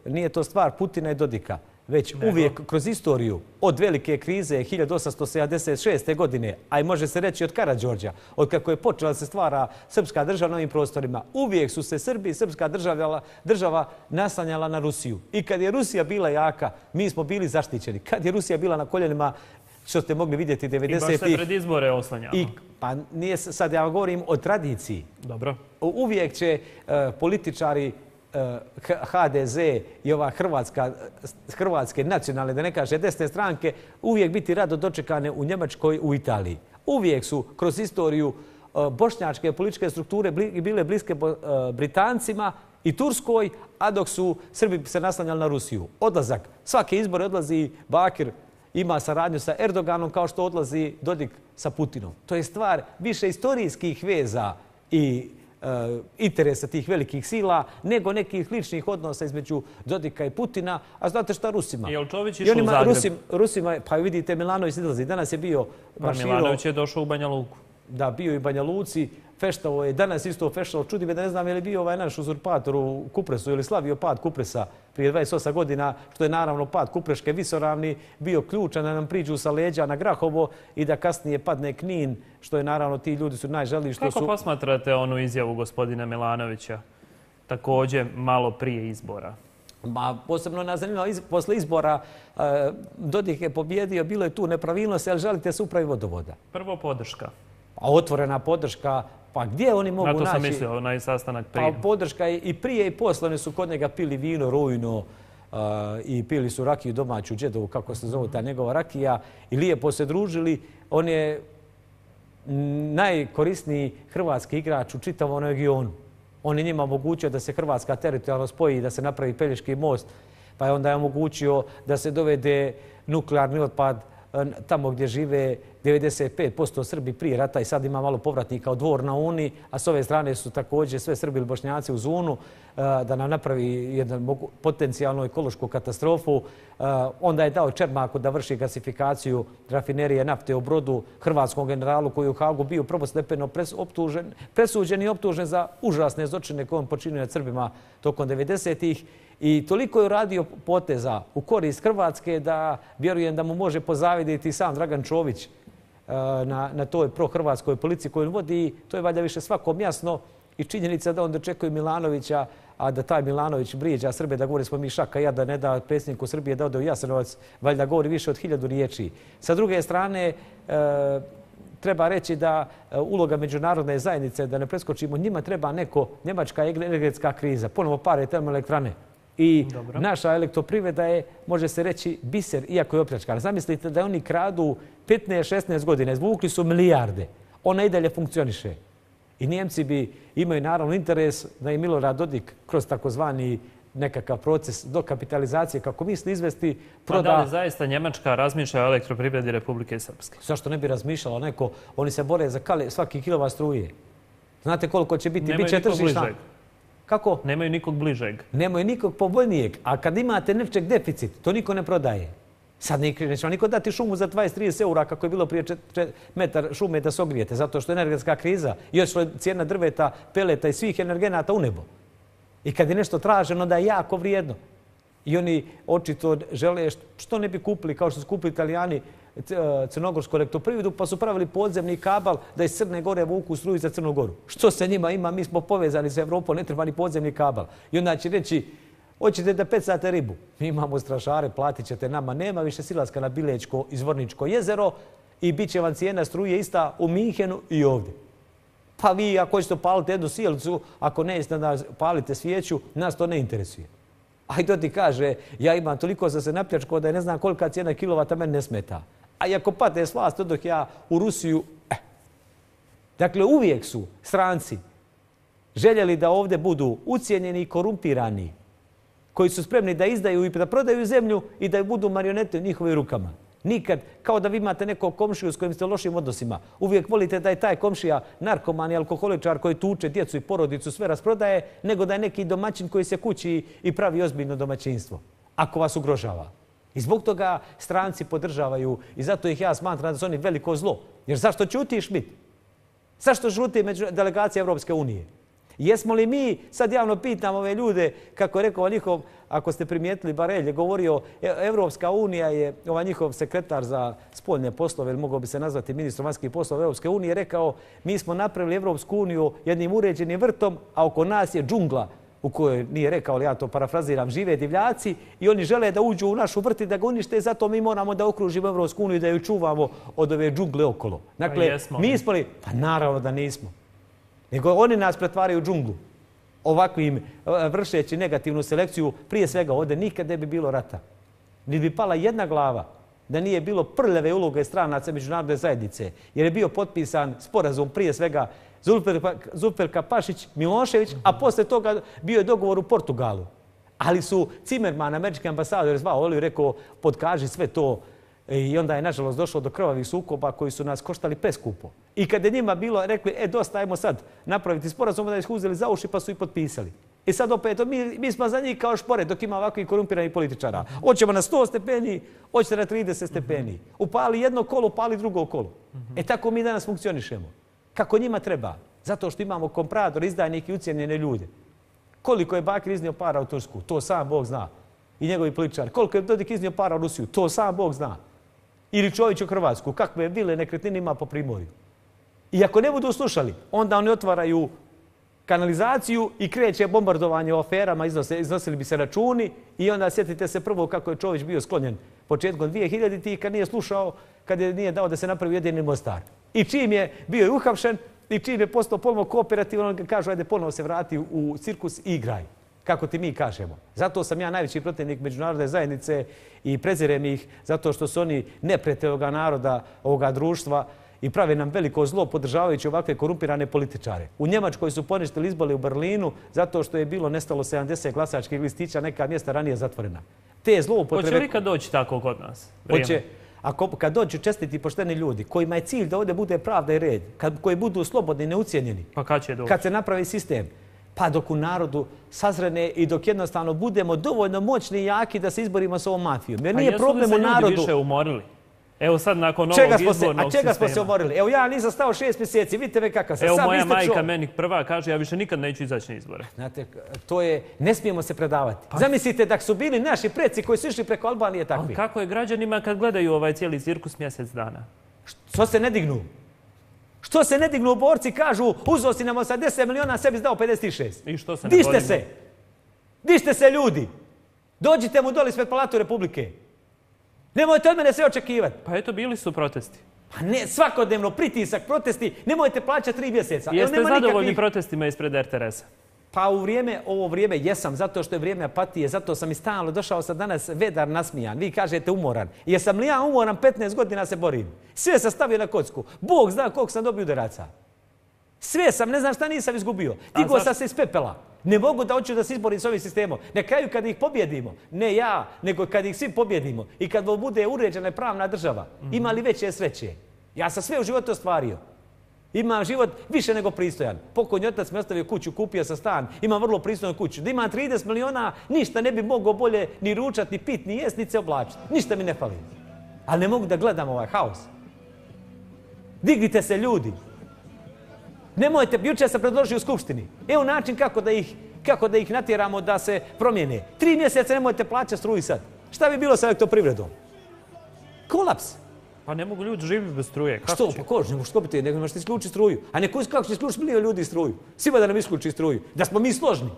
nije to stvar Putina i Dodika. Već uvijek kroz istoriju od velike krize 1876. godine, a i može se reći od Karađorđa, od kako je počela se stvara srpska država na ovim prostorima, uvijek su se Srbi i srpska država naslanjala na Rusiju. I kad je Rusija bila jaka, mi smo bili zaštićeni. Kad je Rusija bila na koljenima, što ste mogli vidjeti 90-ih... I baš se pred izbore oslanjamo. Pa nije sad, ja govorim o tradiciji. Dobro. Uvijek će političari HDZ i ova hrvatske nacionalne, da ne kaže desne stranke, uvijek biti rado dočekane u Njemačkoj, u Italiji. Uvijek su kroz istoriju bošnjačke političke strukture bile bliske Britancima i Turskoj, a dok su Srbi se naslanjali na Rusiju. Odlazak. Svake izbore odlazi Bakir, ima saradnju sa Erdoganom kao što odlazi Dodik sa Putinom. To je stvar više istorijskih veza i interesa tih velikih sila, nego nekih ličnih odnosa između Dodika i Putina. A znate šta Rusima? Je li Čović išao u Zagreb? Rusima, pa vidite, Milanović izlazi. Danas je bio marširao... Milanović je došao u Banja Luku. Da, bio i u Banja Luci. Feštao je, danas isto feštao. Čudi me da ne znam je li bio ovaj naš uzurpator u Kupresu ili slavio pad Kupresa prije 28 godina, što je naravno pad Kupreške visoravni bio ključan da nam priđu sa leđa na Grahovo i da kasnije padne Knin, što je naravno ti ljudi su najželiji što su... Kako posmatrate onu izjavu gospodina Milanovića, također malo prije izbora? Posebno nas zanima, posle izbora Dodik je pobjedio, bilo je tu nepravilnosti, ali želite se upravi vodovoda. Prvo podrška. A otvorena podrška, pa gdje oni mogu naći? Na to sam mislio, onaj sastanak prije. Pa podrška i prije i posle, oni su kod njega pili vino, rujno i pili su rakiju domaću, džedovu, kako se zove ta njegova rakija, i lijepo se družili. On je najkorisniji hrvatski igrač u čitavom regionu. On je njima omogućio da se Hrvatska teritorijalno spoji, da se napravi Pelješki most, pa je onda omogućio da se dovede nuklearni otpad tamo gdje žive 95% Srbi prije rata i sad ima malo povratnika od Dvor na Uni, a s ove strane su također sve Srbi ili Bošnjaci u Zunu, da nam napravi jednu potencijalnu ekološku katastrofu. Onda je dao Čermaku da vrši gasifikaciju rafinerije nafte u Brodu, hrvatskom generalu koji je u Hagu bio prvostepeno presuđen i optužen za užasne zločine koje on počinio nad Srbima tokom 90-ih. I toliko je uradio poteza u korist Hrvatske da vjerujem da mu može pozavidjeti sam Dragan Čović na toj prohrvatskoj politici koju on vodi. To je valjda više svakom jasno i činjenica da on dočekuje Milanovića, a da taj Milanović vrijeđa Srbe, da govori smo mi šaka jada, ne da predsjedniku Srbije da ode u Jasenovac, valjda govori više od 1000 riječi. Sa druge strane, treba reći da uloga međunarodne zajednice, da ne preskočimo, njima treba njemačka energetska kriza, ponovo pare termoelektrane. I naša elektroprivreda je, može se reći, biser, iako je opljačkana. Zamislite da oni kradu 15-16 godina, izvukli su milijarde. Ona i dalje funkcioniše. I Njemci imaju naravno interes da i Milorad Dodik kroz takozvani nekakav proces dokapitalizacije, kako misli izvesti, proda... Pa da li zaista Njemačka razmišlja o elektroprivredi Republike Srpske? Zašto ne bi razmišljala neko? Oni se bore za svaki kilovat struje. Znate koliko će biti? Biće tržišna... Kako? Nemaju nikog bližeg. Nemaju nikog povoljnijeg. A kad imate nečeg deficit, to niko ne prodaje. Sad neće vam niko dati šumu za 20-30 eura kako je bilo prije metar šume da se ogrijete, zato što je energetska kriza i odšla je cijena drveta, peleta i svih energenata u nebo. I kad je nešto traženo, da je jako vrijedno. I oni očito žele što ne bi kupili, kao što su kupili Italijani, crnogorsku elektroprivredu, pa su pravili podzemni kabal da iz Crne Gore vuku struju za Crnu Goru. Što se njima ima? Mi smo povezani sa Evropom, ne treba ni podzemni kabal. I onda će reći, hoćete da pecate ribu? Mi imamo strašare, platit ćete nama. Nema više silaska na Bilečko izvorničko jezero i bit će vam cijena struje ista u Minhenu i ovdje. Pa vi ako hoćete paliti jednu sijalicu, ako ne jeste da palite svijeću, nas to ne interesuje. A i to ti kaže, ja imam toliko za se napljačko da ne znam kolika cijena kilovata meni ne smeta. A i ako padne s vlasti, dok ja u Rusiju... Dakle, uvijek su stranci željeli da ovdje budu ucijenjeni i korumpirani, koji su spremni da izdaju i da prodaju zemlju i da budu marionete u njihovim rukama. Nikad, kao da vi imate nekog komšiju s kojim ste u lošim odnosima. Uvijek volite da je taj komšija narkoman i alkoholičar koji tuče djecu i porodicu, sve rasprodaje, nego da je neki domaćin koji se kući i pravi ozbiljno domaćinstvo, ako vas ugrožava. I zbog toga stranci podržavaju i zato ih ja smatram da su oni veliko zlo. Jer zašto ćuti Schmidt? Zašto žuti delegacija Evropske unije? Jesmo li mi, sad javno pitam ove ljude, kako je rekao njihov, ako ste primijetili, Barelj je govorio, Evropska unija je, ovaj njihov sekretar za spoljne poslove, ili mogao bi se nazvati ministrom vanjskih poslova Evropske unije, rekao mi smo napravili Evropsku uniju jednim uređenim vrtom, a oko nas je džungla, u kojoj nije rekao, ali ja to parafraziram, žive divljaci i oni žele da uđu u našu vrt i da ga unište, zato mi moramo da okružimo Evropsku uniju i da ju čuvamo od ove džungle okolo. Dakle, mi smo li? Pa naravno da nismo. Nego oni nas pretvaraju u džunglu. Ovakvim vršeći negativnu selekciju, prije svega ovdje nikad ne bi bilo rata. Ni bi pala jedna glava da nije bilo prljave uloge stranaca međunarodne zajednice. Jer je bio potpisan sporazum prije svega Zulferka Pašić, Milošević, a poslije toga bio je dogovor u Portugalu. Ali su Zimmerman, američki ambasador, zvao Oli i rekao podkaži sve to. I onda je nažalost došlo do krvavih sukoba koji su nas koštali preskupo. I kad je njima bilo rekli, dosta, ajmo sad napraviti sporazum, da ih uzeli za uši pa su i potpisali. I sad opet, mi smo za njih kao špore dok ima ovakvih korumpiranih političara. Hoćemo na 100 stepeni, hoćete na 30 stepeni. Upali jedno kolo, upali drugo kolo. Tako mi danas funkcionišemo. Kako njima treba. Zato što imamo komprador, izdajnike i ucijenjene ljude. Koliko je Bakir iznio para u Tursku, to sam Bog zna. I njegovi političari. Koliko je Dodik iznio para u Rusiju, to sam Bog zna. Ili Čović u Hrvatsku, kakve vile nekretnine ima po Primorju. I ako ne budu slušali, onda oni otvaraju kanalizaciju i kreće bombardovanje o aferama, iznosili bi se računi i onda sjetite se prvo kako je Čović bio sklonjen početkom 2000-ih kad nije slušao, kad nije dao da se napravi jedini Mostar. I čim je bio i uhapšen i čim je postao ponovno kooperativan, on kažu ajde ponovo se vrati u cirkus i igraj. Kako ti mi kažemo. Zato sam ja najveći protivnik međunarodne zajednice i prezirem ih zato što su oni neprijatelji ovoga naroda, ovoga društva i prave nam veliko zlo podržavajući ovakve korumpirane političare. U Njemačkoj su poništili izbore u Berlinu zato što je bilo nestalo 70 glasačkih listića, neka mjesta ranije zatvorena. Te zloupotrebe... Hoće li kad doći tako kod nas? Hoće. Kad dođu čestiti i pošteni ljudi, kojima je cilj da ovdje bude pravda i red, koji budu slobodni i neucijenjeni, pa kad će doći? Kad se napravi sistem, pa dok u narodu sazrene i dok jednostavno budemo dovoljno moćni i jaki da se izborimo s ovom mafijom. Jer nije problem u narodu... A jesu li se ljudi više umorili? Evo sad nakon ovog izbornog sistema. A čega smo se umorili? Evo ja nisam stao 6 mjeseci, vidite me kakav sam. Evo moja majka meni prva kaže ja više nikad neću izaći na izbore. Znate, to je, ne smijemo se predavati. Zamislite da su bili naši preci koji su išli preko Albanije takvi. Ali kako je građanima kad gledaju ovaj cijeli cirkus mjesec dana? Što se ne dignu? Što se ne dignu borci, kažu uzeo si nam 80 miliona, sebi dao 56. I što se ne Dižte se! Dižte se ljudi! Dođite mu doli ispred Palatu Republike. Nemojte od mene sve očekivati. Pa eto, bili su protesti. Pa ne, svakodnevno pritisak, protesti, nemojte plaćati 3 mjeseca. Jeste zadovoljni protestima ispred RTS-a? Pa ovo vrijeme jesam, zato što je vrijeme apatije, zato sam i stalno došao sam danas vedar nasmijan. Vi kažete umoran. Jesam li ja umoran, 15 godina se borim. Sve sam stavio na kocku. Bog zna koliko sam dobio udaraca. Sve sam, ne znam šta nisam izgubio. Digao sam se iz pepela. Ne mogu da hoću da se izborim s ovim sistemom. Na kraju kad ih pobjedimo, ne ja, nego kad ih svi pobjedimo i kad bude uređena i pravna država, ima li veće sreće? Ja sam sve u životu ostvario. Imam život više nego pristojan. Pokojni otac mi ostavio kuću, kupio sam stan, imam vrlo pristojnu kuću. Da imam 30 miliona, ništa ne bi mogao bolje ni ručati, ni pit, ni jest, ni se oblačiti. Ništa mi ne fali. Ali ne mogu da gledam ovaj haos. Dignite se ljudi. Nemojte, jučer sam predložio u Skupštini. Evo način kako da ih natjeramo da se promijene. 3 mjeseca nemojte plaćati struju sad. Šta bi bilo sa elektroprivredom? Kolaps. Pa ne mogu ljudi živjeti bez struje. Što? Pa ko? Ne možeš skopiti, nego možete isključiti struju. A kako će isključiti milijon ljudi struju? Svima da nam isključi struju. Da smo mi složni.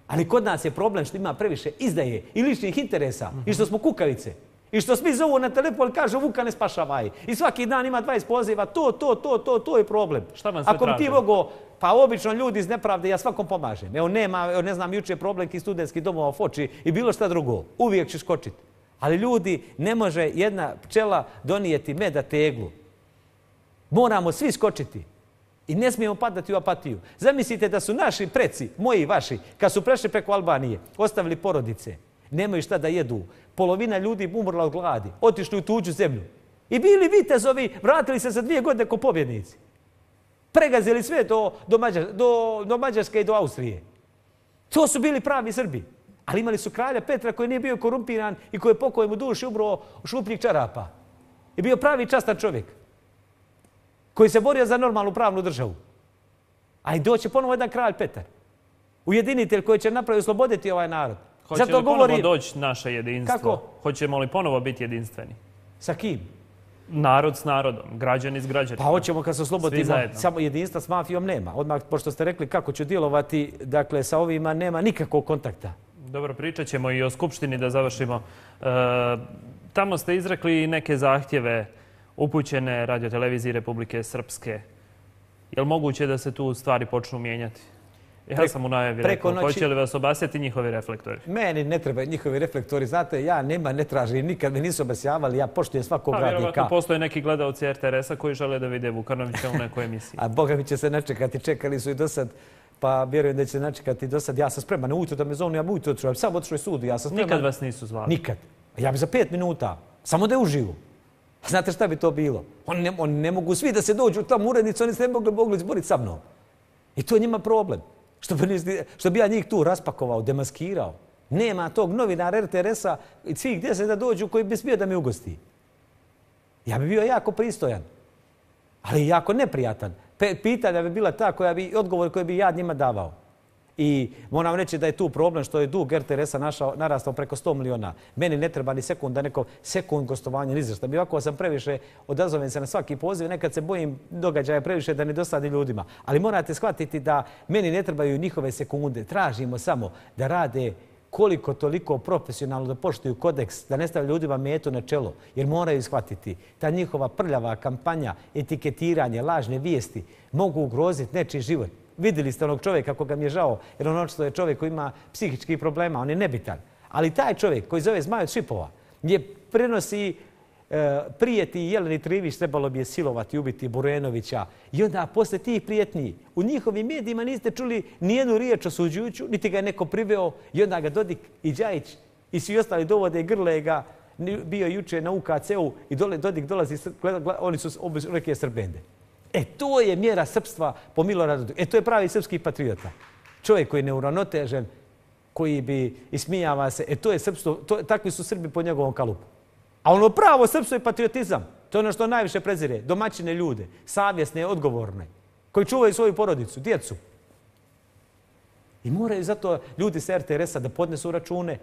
Ali kod nas je problem što ima previše izdaje i ličnih interesa. I što smo kukavice. I što svi zovu na telefon i kažu Vuka ne spašavaj. I svaki dan ima 20 poziva. To je problem. Šta vam sve traže? Ako bi ti mogao, pa obično ljudi iz nepravde, ja svakom pomažem. Evo nema, ne znam, juče problem ki studentskih domova u Foči i bilo šta drugo. Uvijek ću skočiti. Ali ljudi, ne može jedna pčela donijeti meda teglu. Moramo svi skočiti. I ne smijemo padati u apatiju. Zamislite da su naši preci, moji i vaši, kad su prešli preko Albanije, ostavili porodice, nemaju šta da jedu. Polovina ljudi umrla od gladi, otišli u tuđu zemlju. I bili vitezovi, vratili se za 2 godine ko pobjednici. Pregazili sve do Mađarske i do Austrije. To su bili pravi Srbi. Ali imali su kralja Petra koji nije bio korumpiran i koji je pokoj mu duši ubrao šupljih čarapa. I bio pravi častan čovjek koji se borio za normalnu pravnu državu. A i doće ponovo jedan kralj Petar. Ujedinitelj koji će napraviti osloboditi ovaj narod. Hoće li ponovo doći naše jedinstvo? Kako? Hoćemo li ponovo biti jedinstveni? Sa kim? Narod s narodom, građani s građanima. Pa hoćemo kad se oslobodimo, samo jedinstva s mafijom nema. Odmah, pošto ste rekli kako ću djelovati, dakle, sa ovima nema nikakvog kontakta. Dobro, pričat ćemo i o Skupštini da završimo. Tamo ste izrekli neke zahtjeve upućene radioteleviziji Republike Srpske. Je li moguće da se tu stvari počnu mijenjati? Ja sam u najavi rekao, hoće li vas obasjati njihovi reflektori? Meni ne treba njihovi reflektori. Znate, ja ne tražim, nikad me nisu obasjavali, ja poštujem svakog radnika. Vjerovatno postoje neki gledalci RTS-a koji žele da vide Vukanovića u nekoj emisiji. A Boga mi će se načekati, čekali su i do sad, pa vjerujem da će se načekati i do sad. Ja sam spreman, ujutro da me zovnu, ja bi ujutro otišao, sam otišao iz sudu, ja sam spreman. Nikad vas nisu zvali? Nikad. Ja bi za 5 minuta, samo da je uživu. Znate šta bi to bilo? Oni ne mogu svi da se dođu u tom urednicu, oni se ne mogli izboriti sa mnom. I to je njima problem. Što bi ja njih tu raspakovao, demaskirao. Nema tog novinara RTS-a i svih 10 da dođu koji bi smio da mi ugosti. Ja bi bio jako pristojan, ali jako neprijatan. Pitanja bi bila ta odgovor koji bi ja njima davao. I moram reći da je tu problem što je dug RTS-a narastao preko 100 miliona. Meni ne treba ni sekund gostovanja, ni zašto. Ovako sam previše, odazovem se na svaki poziv, nekad se bojim događaja previše da ne dosadi ljudima. Ali morate shvatiti da meni ne trebaju njihove sekunde. Tražimo samo da rade koliko toliko profesionalno, da poštuju kodeks, da ne stavljaju ljudima metu na čelo. Jer moraju shvatiti, ta njihova prljava kampanja, etiketiranje, lažne vijesti mogu ugroziti nečiji život. Vidjeli ste onog čovjeka koga mi je žao, jer on očito je čovjek koji ima psihičkih problema, on je nebitan. Ali taj čovjek koji zove Zmaj od Šipova, gdje prenosi prijeti Jeleni Trivić, trebalo bi je silovati, ubiti Burenovića. I onda posle tih prijetnji u njihovim medijima niste čuli nijednu riječ osuđujuću, niti ga je neko priveo. I onda ga Dodik i Đajić i svi ostali dovode i grle ga. Bio juče na UKC-u i Dodik dolazi, oni su neke Srbende. To je mjera srpstva po Miloradu. To je pravi srpski patriota. Čovjek koji je neuravnotežen, koji bi ismijava se. To je srpstvo, takvi su Srbi po njegovom kalupu. A ono pravo srpstvo je patriotizam. To je ono što najviše prezire. Domaćine ljude, savjesne, odgovorne, koji čuvaju svoju porodicu, djecu. I moraju zato ljudi sa RTS-a da podnesu račune.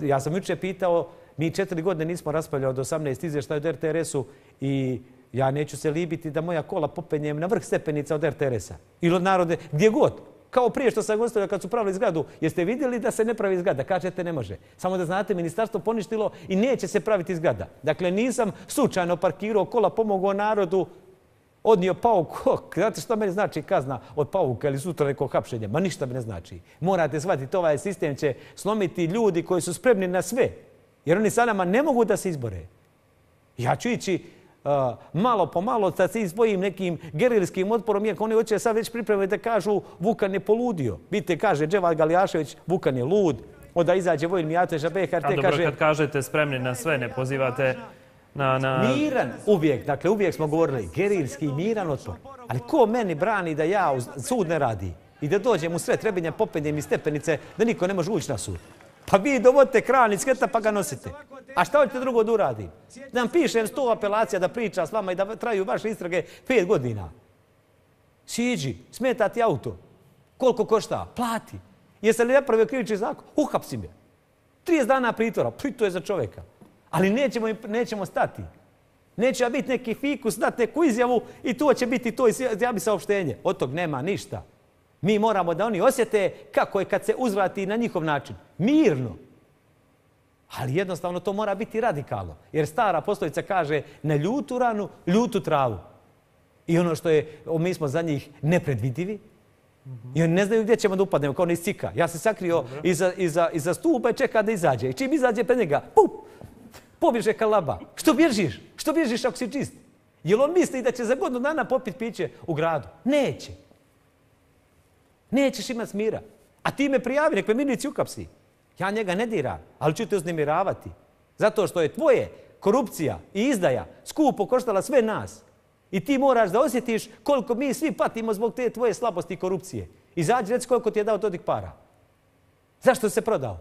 Ja sam juče pitao, mi 4 godine nismo raspravljali od 18 izvještaja od RTS-u i ja neću se libiti da moja kola popenjem na vrh stepenica od RTS-a. Ili od narode, gdje god. Kao prije što sam gostavio kad su pravili zgradu. Jeste vidjeli da se ne pravi zgrada? Kažete ne može. Samo da znate, ministarstvo poništilo i neće se praviti zgrada. Dakle, nisam slučajno parkirao kola, pomogao narodu, odnio pauk. Znate što meni znači kazna od pauka ili sutra nekog hapšenja? Ma ništa mi ne znači. Morate shvatiti, ovaj sistem će slomiti ljudi koji su spremni na sve. Jer oni sa nama ne mogu da se izbore. Ja ću ići malo po malo da se izbojim nekim gerilskim otporom, iako oni hoće sad već pripremiti da kažu Vukan je poludio. Vidite, kaže Dževad Galijašević, Vukan je lud, onda izađe Vojin Mijatović, BHRT kaže... A dobro, kad kažete spremni na sve, ne pozivate na... Miran uvijek, dakle uvijek smo govorili, gerilski miran otpor. Ali ko meni brani da ja sud ne radi i da dođem u sve Trebinja, popenjem iz stepenice, da niko ne može ući na sud? Pa vi dovodite kran iz sketa pa ga nosite. A šta hoćete drugo da uradim? Da vam pišem 100 apelacija da priča s vama i da traju vaše istrage 5 godina. Siđi, smeta ti auto. Koliko košta? Plati. Jesi li napravio krivični zakon? Uhapsi me. 30 dana pritvora. To je za čovjeka. Ali nećemo stati. Neće biti neki fikus, dati neku izjavu i to će biti to izjavi saopštenje. Od tog nema ništa. Mi moramo da oni osjete kako je kad se uzvrati na njihov način. Mirno. Ali jednostavno to mora biti radikalno. Jer stara poslovica kaže na ljutu ranu, ljutu travu. I ono što je, mi smo za njih nepredvidivi. I oni ne znaju gdje ćemo da upadnemo, kao ono iz cika. Ja se sakrio iza stupa i čeka da izađe. I čim izađe pred njega, pup! Pobježe kalaba. Što bježiš? Što bježiš ako si čist? Jel on misli da će za godinu dana popiti piće u gradu? Neće. Nećeš imati smira. A ti me prijavi, nek me milici ukapsi. Ja njega ne diram, ali ću te uznemiravati. Zato što je tvoje korupcija i izdaja skupo koštala sve nas. I ti moraš da osjetiš koliko mi svi patimo zbog te tvoje slabosti i korupcije. Izađi, reci koliko ti je dao Dodik para. Zašto se prodao?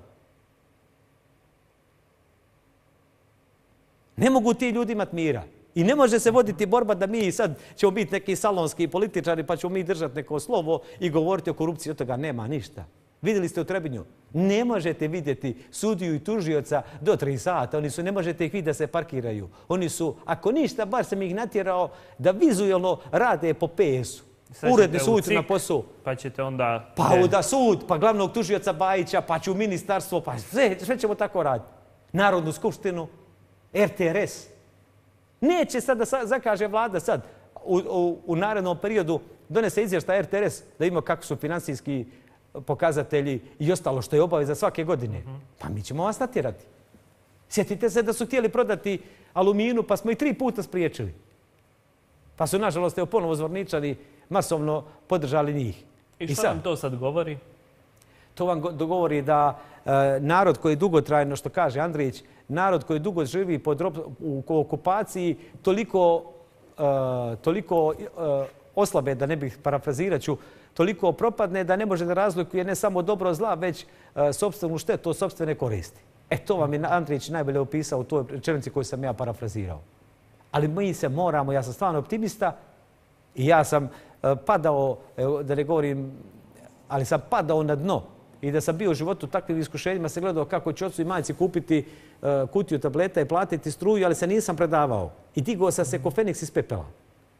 Ne mogu ti ljudi imati mira. I ne može se voditi borba da mi sad ćemo biti neki salonski političari pa ćemo mi držati neko slovo i govoriti o korupciji. Od toga nema ništa. Vidjeli ste u Trebinju? Ne možete vidjeti sudiju i tužioca do 3 sata. Oni su, ne možete ih vidjeti da se parkiraju. Oni su, ako ništa, bar sam ih natjerao da vizualno rade po PS-u. Uredni suci na posao. Pa ćete onda... Pa da sud, pa glavnog tužioca Bajića, pa ću ministarstvo, pa sve ćemo tako raditi. Narodnu skupštinu, RTRS. Neće sad da zakaže vlada sad u narednom periodu donese izvještaj RTRS da ima kako su financijski pokazatelji i ostalo što je obaveza svake godine. Pa mi ćemo vas natjerati. Sjetite se da su htjeli prodati Aluminu pa smo ih 3 puta spriječili. Pa su nažalost ponovo Zvorničani masovno podržali njih. I što vam to sad govori? To vam govori da narod koji dugotrajno, što kaže Andrić, narod koji dugo živi u okupaciji toliko oslabe, da ne bih parafrazirat ću, toliko propadne da ne može da razlikuje ne samo dobro zla, već sopstvenu štetu od sopstvene koristi. To vam je Andrić najbolje opisao u toj rečenici koju sam ja parafrazirao. Ali mi se moramo, ja sam stvarno optimista i ja sam padao, da ne govorim, ali sam padao na dno. I da sam bio u životu takvim iskušenjima, se gledao kako će ocu i majci kupiti kutiju tableta i platiti struju, ali se nisam predavao. I digao sam se ko Feniks iz pepela.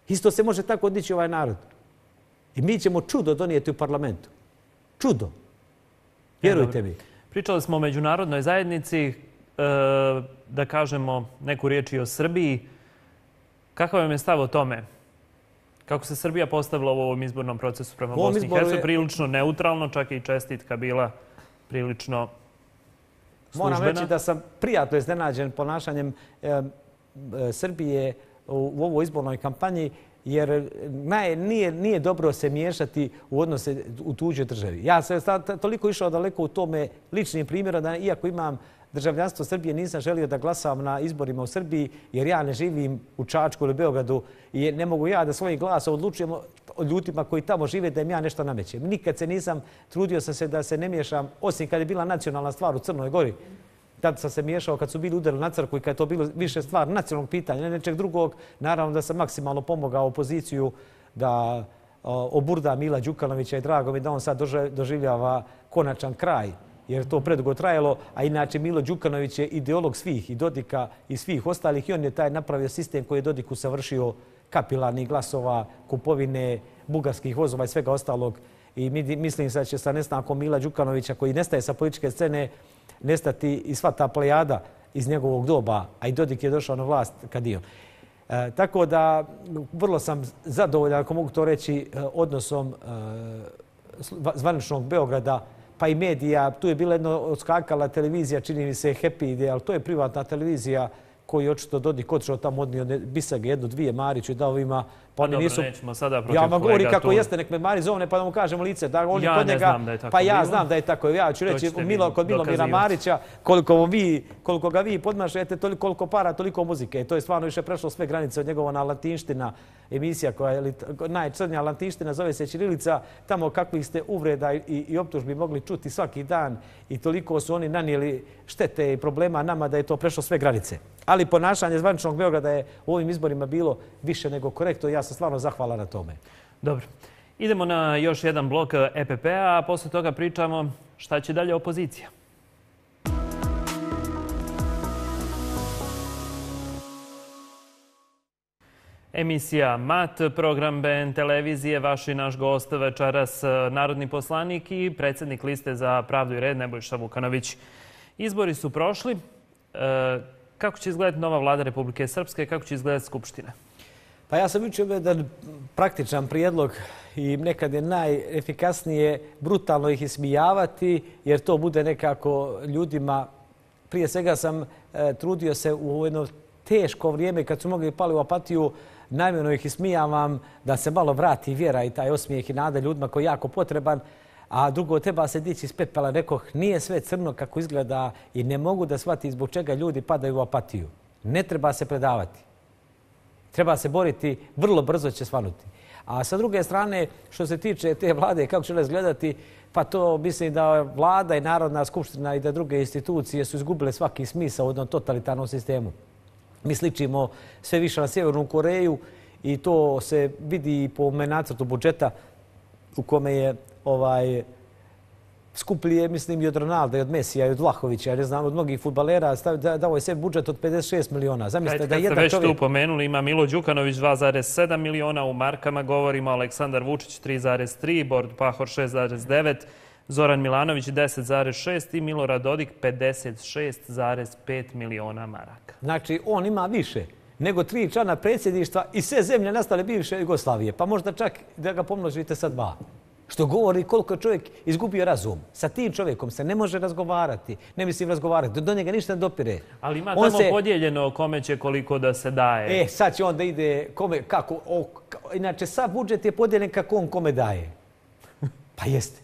Isto se može tako odići ovaj narod. I mi ćemo čudo donijeti u parlamentu. Čudo. Vjerujte mi. Pričali smo o međunarodnoj zajednici, da kažemo neku riječ i o Srbiji. Kakav vam je stav o tome? Kako se Srbija postavila u ovom izbornom procesu prema Bosni i Hercegovini? Prilično neutralno, čak i čestitka bila prilično službena. Moram reći da sam prijatno iznenađen ponašanjem Srbije u ovoj izbornoj kampanji, jer nije dobro se miješati u odnose u tuđoj državi. Ja sam toliko išao daleko u tome ličnim primjerom da iako imam državljanstvo Srbije nisam želio da glasam na izborima u Srbiji jer ja ne živim u Čačku ili Beogradu i ne mogu ja da svojim glasom odlučujem o ljudima koji tamo žive da im ja nešto namećem. Nikad se nisam, trudio sam se da se ne miješam, osim kad je bila nacionalna stvar u Crnoj Gori. Tad sam se miješao kad su bili udari na crkvu i kad je to bilo više stvar nacionalnog pitanja, ne nečeg drugog. Naravno da sam maksimalno pomogao opoziciju da oburda Mila Đukanovića i drago mi da on sad doživljava konačan kraj. Jer to predugo trajalo, a inače Milo Đukanović je ideolog svih i Dodika i svih ostalih i on je taj napravio sistem koji je Dodik usavršio kapilarnih glasova, kupovine, bugarskih vozova i svega ostalog. I mislim da će sa nestankom Mila Đukanovića koji nestaje sa političke scene nestati i sva ta plejada iz njegovog doba, a i Dodik je došao na vlast kad je on. Tako da vrlo sam zadovoljan, ako mogu to reći, odnosom zvaničnog Beograda pa i medija. Tu je bila jedna odskakala televizija, čini mi se Happy Ide, ali to je privatna televizija koju je očito Dodik otišao tamo, odnio bisage, 1-2 Mariću i dao ovima. Pa dobro, nećemo sada protiv kolega. Ja vam govorim kako tu... jeste, nek me Mari zovne pa da mu kažemo lice. Da oni ja kod ne njega, znam da je tako pa ja bilo. znam da je tako. Ja ću reći kod Milomira Marića, koliko ga vi podmašujete, koliko para, toliko muzike. To je stvarno više prešlo sve granice od njegova na latinština emisija koja je najcrnja latinština, zove se Ćirilica. Tamo kakvih ste uvreda i optužbi mogli čuti svaki dan i toliko su oni nanijeli štete i problema nama da je to prešlo sve granice. Ali ponašanje zvaničnog Beograda je u ovim izborima bilo više nego korektno i ja sam stvarno zahvalan na tome. Dobro. Idemo na još jedan blok EPP-a, a posle toga pričamo šta će dalje opozicija. Emisija MAT, program BN televizije, vaš i naš gost večeras, narodni poslanik i predsjednik liste za pravdu i red Nebojša Vukanović. Izbori su prošli. Kako će izgledati nova vlada Republike Srpske? Kako će izgledati Skupština? Pa ja sam učio jedan praktičan prijedlog i nekad je najefikasnije brutalno ih ismijavati jer to bude nekako ljudima prije svega sam trudio se u jedno teško vrijeme kad su mnogi pali u apatiju, namjerno ih ismijavam da se malo vrati vjera i taj osmijeh i nada ljudima koji je jako potreban. A drugo, treba se dići iz pepela. Rekoh, nije sve crno kako izgleda i ne mogu da shvati zbog čega ljudi padaju u apatiju. Ne treba se predavati. Treba se boriti, vrlo brzo će svanuti. A sa druge strane, što se tiče te vlade, kako će razgledati, pa to mislim da vlada i Narodna skupština i da druge institucije su izgubile svaki smisao u jednom totalitarnom sistemu. Mi sličimo sve više na Sjevernu Koreju i to se vidi i po nacrtu budžeta u kome je skuplji, mislim, i od Ronalda, i od Mesija, i od Vlahovića, ne znam, od mnogih fudbalera, dao je sve budžet od 56 miliona. Zamislite da jedan čovjek... Kad ste već tu pomenuli, ima Milo Đukanović 2,7 miliona, u markama govorimo Aleksandar Vučić 3,3, Borut Pahor 6,9, Zoran Milanović 10,6 i Milorad Dodik 56,5 miliona maraka. Znači, on ima više nego 3 člana predsjedništva i sve zemlje nastale bivše Jugoslavije, pa možda čak da ga pomnožite sa 2. Što govori koliko je čovjek izgubio razum. Sa tim čovjekom se ne može razgovarati. Ne mislim razgovarati. Do njega ništa ne dopire. Ali ima tamo podijeljeno kome će koliko da se daje. Sad će onda ide kome, kako. Inače, sav budžet je podijeljen kako on kome daje. Pa jeste.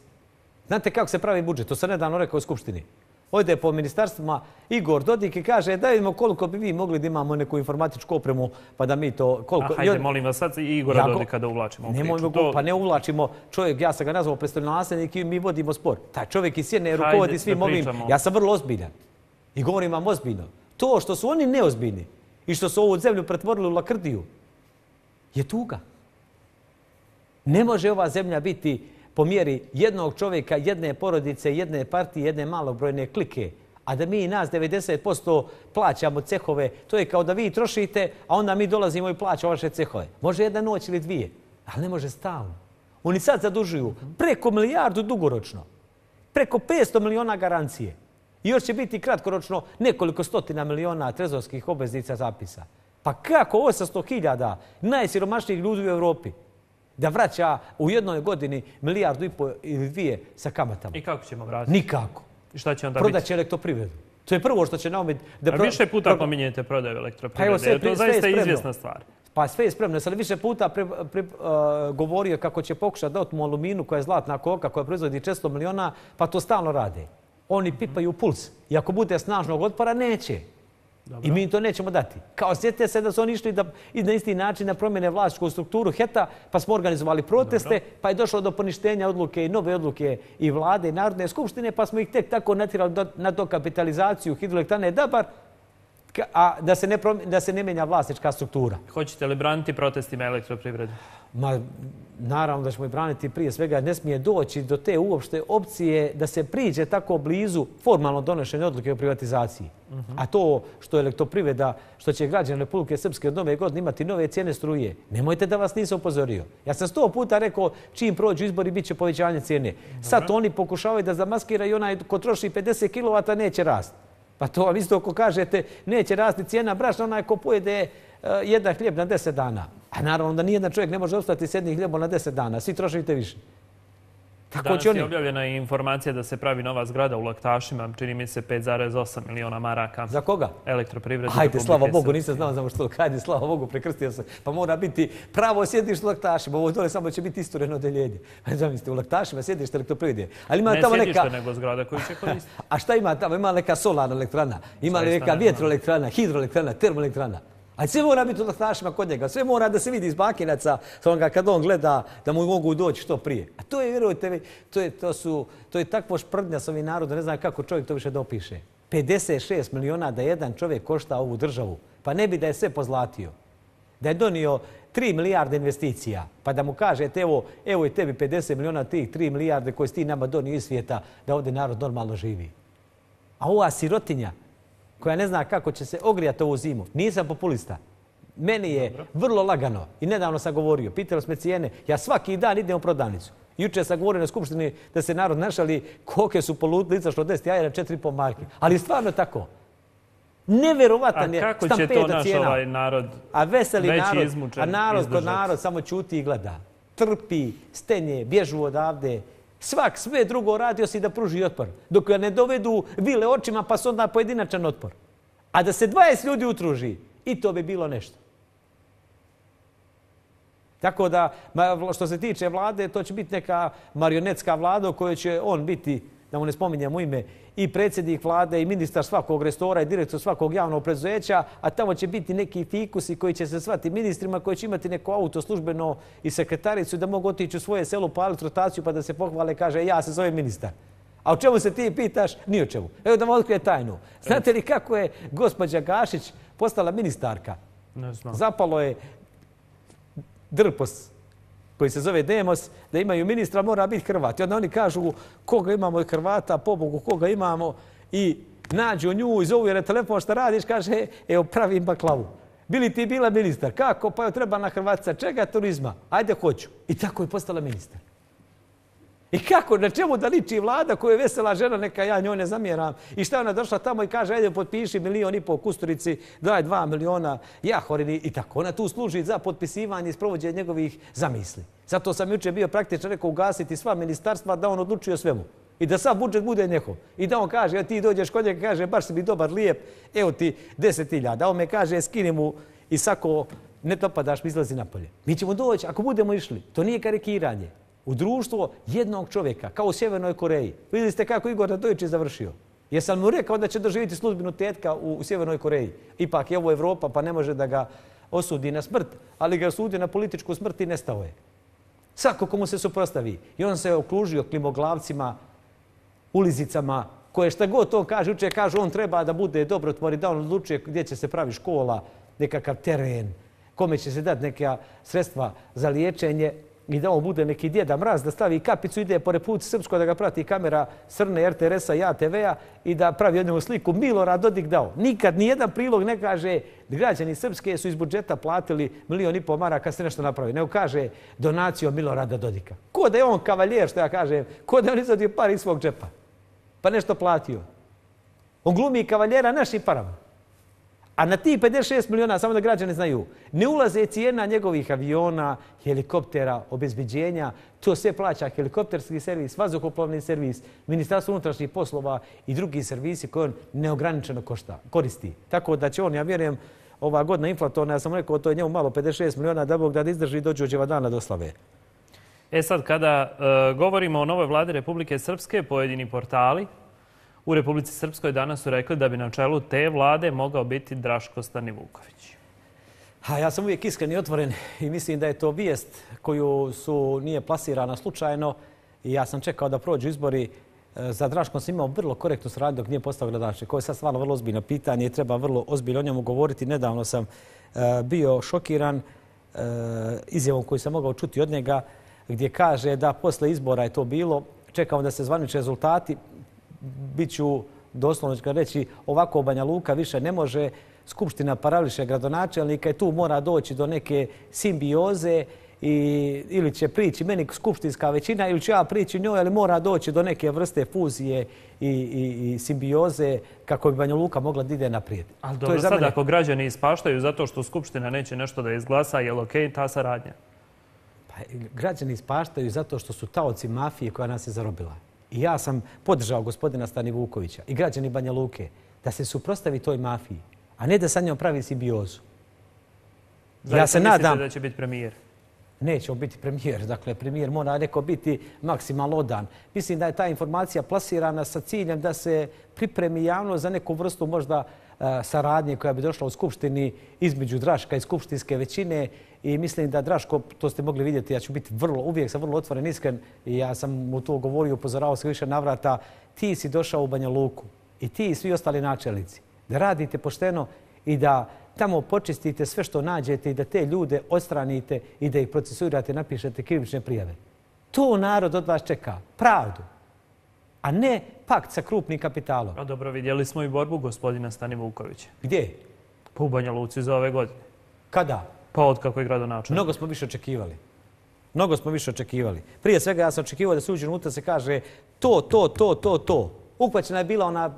Znate kako se pravi budžet? To sam nedavno rekao u Skupštini. Ode po ministarstvima Igor Dodik i kaže da vidimo koliko bi vi mogli da imamo neku informatičku opremu pa da mi to... Hajde, molim vas sad i Igora Dodika da uvlačimo u priču. Pa ne uvlačimo. Čovjek, ja sam ga nazvao predstavljenik i mi vodimo spor. Taj čovjek iz Sjene rukovodi svim ovim. Ja sam vrlo ozbiljan. I govorim vam ozbiljno. To što su oni neozbiljni i što su ovu zemlju pretvorili u lakrdiju je tuga. Ne može ova zemlja biti po mjeri jednog čovjeka, jedne porodice, jedne partije, jedne malobrojne klike, a da mi nas 90% plaćamo cehove, to je kao da vi trošite, a onda mi dolazimo i plaćamo vaše cehove. Može jedna noć ili 2, ali ne može stalno. Oni sad zadužuju preko 1 milijardu dugoročno, preko 500 miliona garancije. I još će biti kratkoročno nekoliko stotina miliona trezorskih obveznica zapisa. Pa kako 800.000 najsiromašnijih ljudi u Evropi da vraća u jednoj godini 1,5 milijardu ili 2 sa kamatama? I kako ćemo vratiti? Nikako. I šta će onda biti? Prodaće elektroprivredu. To je prvo što će naumiti... A više puta pominjete prodaju elektroprivrede. To je zaista izvjesna stvar. Pa sve je spremno. Sam više puta govorio kako će pokušati da otmu Aluminu koja je zlatna koka, koja proizvodi 400 miliona, pa to stalno rade. Oni pipaju puls. I ako bude snažnog otpora, neće. I mi to nećemo dati. Kao sjetite se da su oni išli na isti način da promjene vlasničku strukturu HET-a, pa smo organizovali proteste, pa je došlo do poništenja odluke i nove odluke i vlade i Narodne skupštine, pa smo ih tek tako natjerali na dokapitalizaciju hidroelektrane Dabar, a da se ne menja vlasnička struktura. Hoćete li braniti protestima elektroprivrede? Ma, naravno da ćemo i braniti. Prije svega ne smije doći do te uopšte opcije da se priđe tako blizu formalno donošenja odluke o privatizaciji. A to što je elektroprivreda, što će građani Republike Srpske od nove godine imati nove cijene struje, nemojte da vas nisam upozorio. Ja sam 100 puta rekao čim prođu izbori bit će povećanje cijene. Sad oni pokušavaju da zamaskiraju i onaj ko troši 50 kW neće rasti. Pa to vam isto ako kažete neće rasti cijena brašna, onaj ko pojede jedan hljeb na 10 dana. A naravno da nijedan čovjek ne može ostati s jednim hljebom na 10 dana. Svi trošite više. Danas je objavljena informacija da se pravi nova zgrada u Laktašima, čini mi se 5,8 miliona maraka. Za koga? Elektroprivrede. Hajde, slava Bogu, nisam znao za što. Hajde, slava Bogu, prekrstio se. Pa mora biti pravo sjedište u Laktašima. Ovo dole samo će biti istureno odeljenje. Zamislite, u Laktašima sjedište elektroprivrede. Ne sjedište, nego zgrada koju će koristiti. A šta ima tamo? Ima neka solarna elektrana, ima neka vjetroelektrana, hidroelektrana, termoelektrana. Ali sve mora biti u Laktašima kod njega. Sve mora da se vidi iz bakinaca kad on gleda da mu mogu doći što prije. A to je, vjerujte mi, to je takvo šprdnja s ovim narodom. Ne znam kako čovjek to više dopiše. 56 miliona da jedan čovjek košta ovu državu. Pa ne bi da je sve pozlatio. Da je donio 3 milijarde investicija. Pa da mu kažete evo je tebi 50 miliona tih 3 milijarde koje si ti nama donio iz svijeta da ovdje narod normalno živi. A ova sirotinja koja ne zna kako će se ogrijati ovu zimu. Nisam populista. Meni je vrlo lagano. I nedavno sam govorio, pitali smo cijene. Ja svaki dan idem u prodavnicu. Jučer sam govorio na skupštini da se narod našali koke su poludili, izašlo 10 jaja na 4,5 marke. Ali stvarno tako. Neverovatan je stampeda cijena. A kako će to naš ovaj narod veći izmučen? A narod kod narod samo ćuti i gleda. Trpi, stenje, bježu odavde. Svak sve drugo radi osim da pruži otpor. Dok ga ne dovedu vile očima pa se onda pojedinačan otpor. A da se 20 ljudi utruži, i to bi bilo nešto. Tako da, što se tiče vlade, to će biti neka marionetska vlada u kojoj će on biti, da mu ne spominjemo ime, i predsjednik vlade, i ministar svakog restora, i direktor svakog javnog preduzeća, a tamo će biti neki fikusi koji će se zvati ministrima, koji će imati neko auto službeno i sekretaricu da mogu otići u svoje selo, paliti rotaciju pa da se pohvale i kaže ja se zovem ministar. A o čemu se ti pitaš? Ni o čemu. Evo da vam otkrije tajnu. Znate li kako je gospođa Gašić postala ministarka? Ne znam. Zapalo je drpos koji se zove Demos, da imaju ministra, mora biti Hrvat. I onda oni kažu koga imamo od Hrvata, pobogu koga imamo, i nađu nju i zovu je na telefon šta radiš, kaže evo pravim baklavu. Bili ti bila ministar? Kako? Pa joj treba na Hrvatska. Čega? Turizma. Ajde hoću. I tako je postala ministar. I kako? Na čemu da liči vlada koja je vesela žena, neka ja njoj ne zamjeram. I šta ona došla tamo i kaže ajde potpiši 1,5 miliona Kusturici, daj 2 miliona Jahorini i tako. Ona tu služi za potpisivanje i sprovođenje njegovih zamisli. Zato sam jučer bio praktično rekao ugasiti sva ministarstva da on odlučuje o svemu. I da sav budžet bude njegov. I da on kaže, ti dođeš kod njega, kaže baš si mi dobar, lijep, evo ti 10.000. A on me kaže skini mu i sako ne dopadaš mi izlazi napolje. Mi ćemo doći ako budemo išli. To nije karikiranje. U društvo jednog čovjeka, kao u Sjevernoj Koreji. Vidjeli ste kako Igor Radojić je završio. Jesam mu rekao da će doživjeti sudbinu tetka u Sjevernoj Koreji. Ipak je ovo Evropa pa ne može da ga osudi na smrt, ali ga osudi na političku smrt i nestao je. Svako komu se suprotstavi. I on se okružio klimoglavcima, ulizicama, koje šta god to kaže, jučer kaže on treba da bude dobrotvor i da on odlučuje gdje će se pravi škola, nekakav teren, kome će se dati neka sredstva za liječenje i da on bude neki Djeda Mraz, da stavi kapicu, ide po Republici Srpskoj, da ga prati kamera Srne, RTRS-a i ATV-a i da pravi jednu sliku. Milorad Dodik dao. Nikad nijedan prilog ne kaže građani Srpske su iz budžeta platili 1,5 miliona maraka se nešto napravi. Nego kaže donacijom Milorada Dodika. Ko da je on kavaljer, što ja kažem, ko da je on izvadio par iz svog džepa pa nešto platio. On glumi kavaljera našim parama. A na tih 56 miliona, samo da građani znaju, ne ulaze cijena njegovih aviona, helikoptera, obezbeđenja, to sve plaća helikopterski servis, vazduhoplovni servis, Ministarstvo unutrašnjih poslova i drugi servisi koje on neograničeno koristi. Tako da će on, ja vjerujem, ova godina inflatorna, ja sam rekao, to je njemu malo 56 miliona, da Bog da izdrži i dođe od dževa dana do slave. Sad, kada govorimo o novoj vladi Republike Srpske, pojedini portali u Republici Srpskoj danas su rekli da bi na čelu te vlade mogao biti Draško Stanivuković. Ja sam uvijek iskren i otvoren i mislim da je to vijest koju nije plasirana slučajno i ja sam čekao da prođu izbori. Za Draškom sam imao vrlo korektnu saradnju dok nije postao gradonačelnik. Ovo je sad stvarno vrlo ozbiljno pitanje i treba vrlo ozbiljno o njemu govoriti. Nedavno sam bio šokiran izjavom koju sam mogao čuti od njega gdje kaže da posle izbora je to bilo, čekamo da se zvanični rezultati, biću doslovno ću reći ovako Banja Luka više ne može, Skupština parališe gradonačelnika i tu mora doći do neke simbioze ili će prići meni skupštinska većina ili ću ja prići njoj, ali mora doći do neke vrste fuzije i simbioze kako bi Banja Luka mogla da ide naprijed. Ali dobro, sad ako građani ispaštaju zato što Skupština neće nešto da izglasa, je li okej ta saradnja? Građani ispaštaju zato što su taoci mafije koja nas je zarobila. I ja sam podržao gospodina Stanivukovića i građani Banja Luke da se suprotstavi toj mafiji, a ne da sa njom pravi simbiozu. Ja se nadam mislite da će biti premijer? Neće on biti premijer. Dakle, premijer mora neko biti maksimalno odan. Mislim da je ta informacija plasirana sa ciljem da se pripremi javno za neku vrstu možda saradnje koja bi došla u Skupštini između Draška i skupštinske većine i mislim da Draško, to ste mogli vidjeti, ja ću biti uvijek sam vrlo otvoren, iskren i ja sam mu to govorio, upozoravao se više navrata, ti si došao u Banja Luku i ti i svi ostali načelnici da radite pošteno i da tamo počistite sve što nađete i da te ljude odstranite i da ih procesuirate, napišete krivične prijave. To narod od vas čeka, pravdu, a ne pakt sa krupnim kapitalom. A dobro, vidjeli smo i borbu gospodina Stanivukovića. Gdje? Pa u Banja Luci za ove godine. Kada? Pa od kako je gradonačelnik. Mnogo smo više očekivali. Mnogo smo više očekivali. Prije svega ja sam očekivao da se uđe unutra se kaže to. Uhvaćena je bila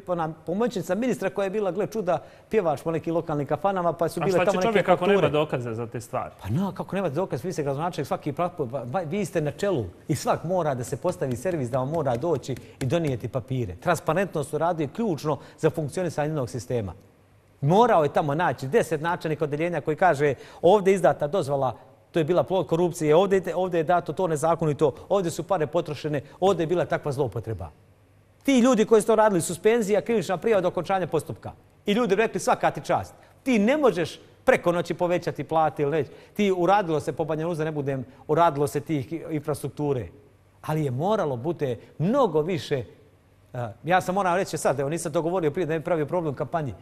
ona pomoćnica ministra koja je bila, gle čuda, pjevač po nekim lokalnim kafanama, pa su bile tamo neke fakture. A šta će čovjek ako nema dokaze za te stvari? Pa no, kako nemate dokaz, vi ste gradonačelnik, svaki vi ste na čelu i svak mora da se postavi servis, da vam mora doći i donijeti papire. Transparentnost u radu je ključno za funkcionisanje jednog sistema. Morao je tamo naći 10 načelnika odeljenja koji kaže ovdje je izdata dozvola, to je bila plod korupcije, ovdje je dato to nezakonito, ovdje su pare potrošene, ovdje je bila takva zloupotreba. Ti ljudi koji su to radili, suspenzija, krivična prijava do okončanja postupka. I ljudi rekli svaka ti čast. Ti ne možeš preko noći povećati plate ili neće. Ti uradilo se po Banja Luka, ne budem, uradilo se tih infrastrukture. Ali je moralo bude mnogo više. Ja sam moram reći sad, evo nisam to govorio prije da ne pravio problem u kampanji.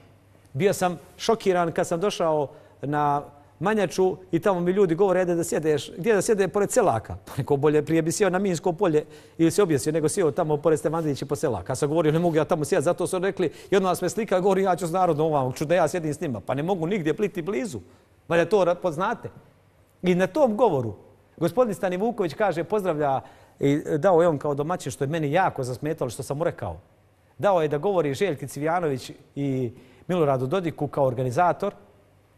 Bio sam šokiran kad sam došao na Manjaču i tamo mi ljudi govore da sjedeš, gdje da sjede pored selaka. Pa neko bolje prije bi sjeo na Minsko polje ili se objesio, nego sjeo tamo pored Stevandrića po selaka. Ja sam govorio ne mogu ja tamo sjeti, zato su rekli jedno nas me slika, govori ja ću s narodom ovam, ću da ja sjedim s njima. Pa ne mogu nigdje pliti blizu, valjda to poznate. I na tom govoru gospodin Stani Vuković kaže pozdravlja i dao je on kao domaćin što je meni jako zasmetalo što sam mu rekao. Dao je da govori Željki Cvijanović i Miloradu Dodiku kao organizator.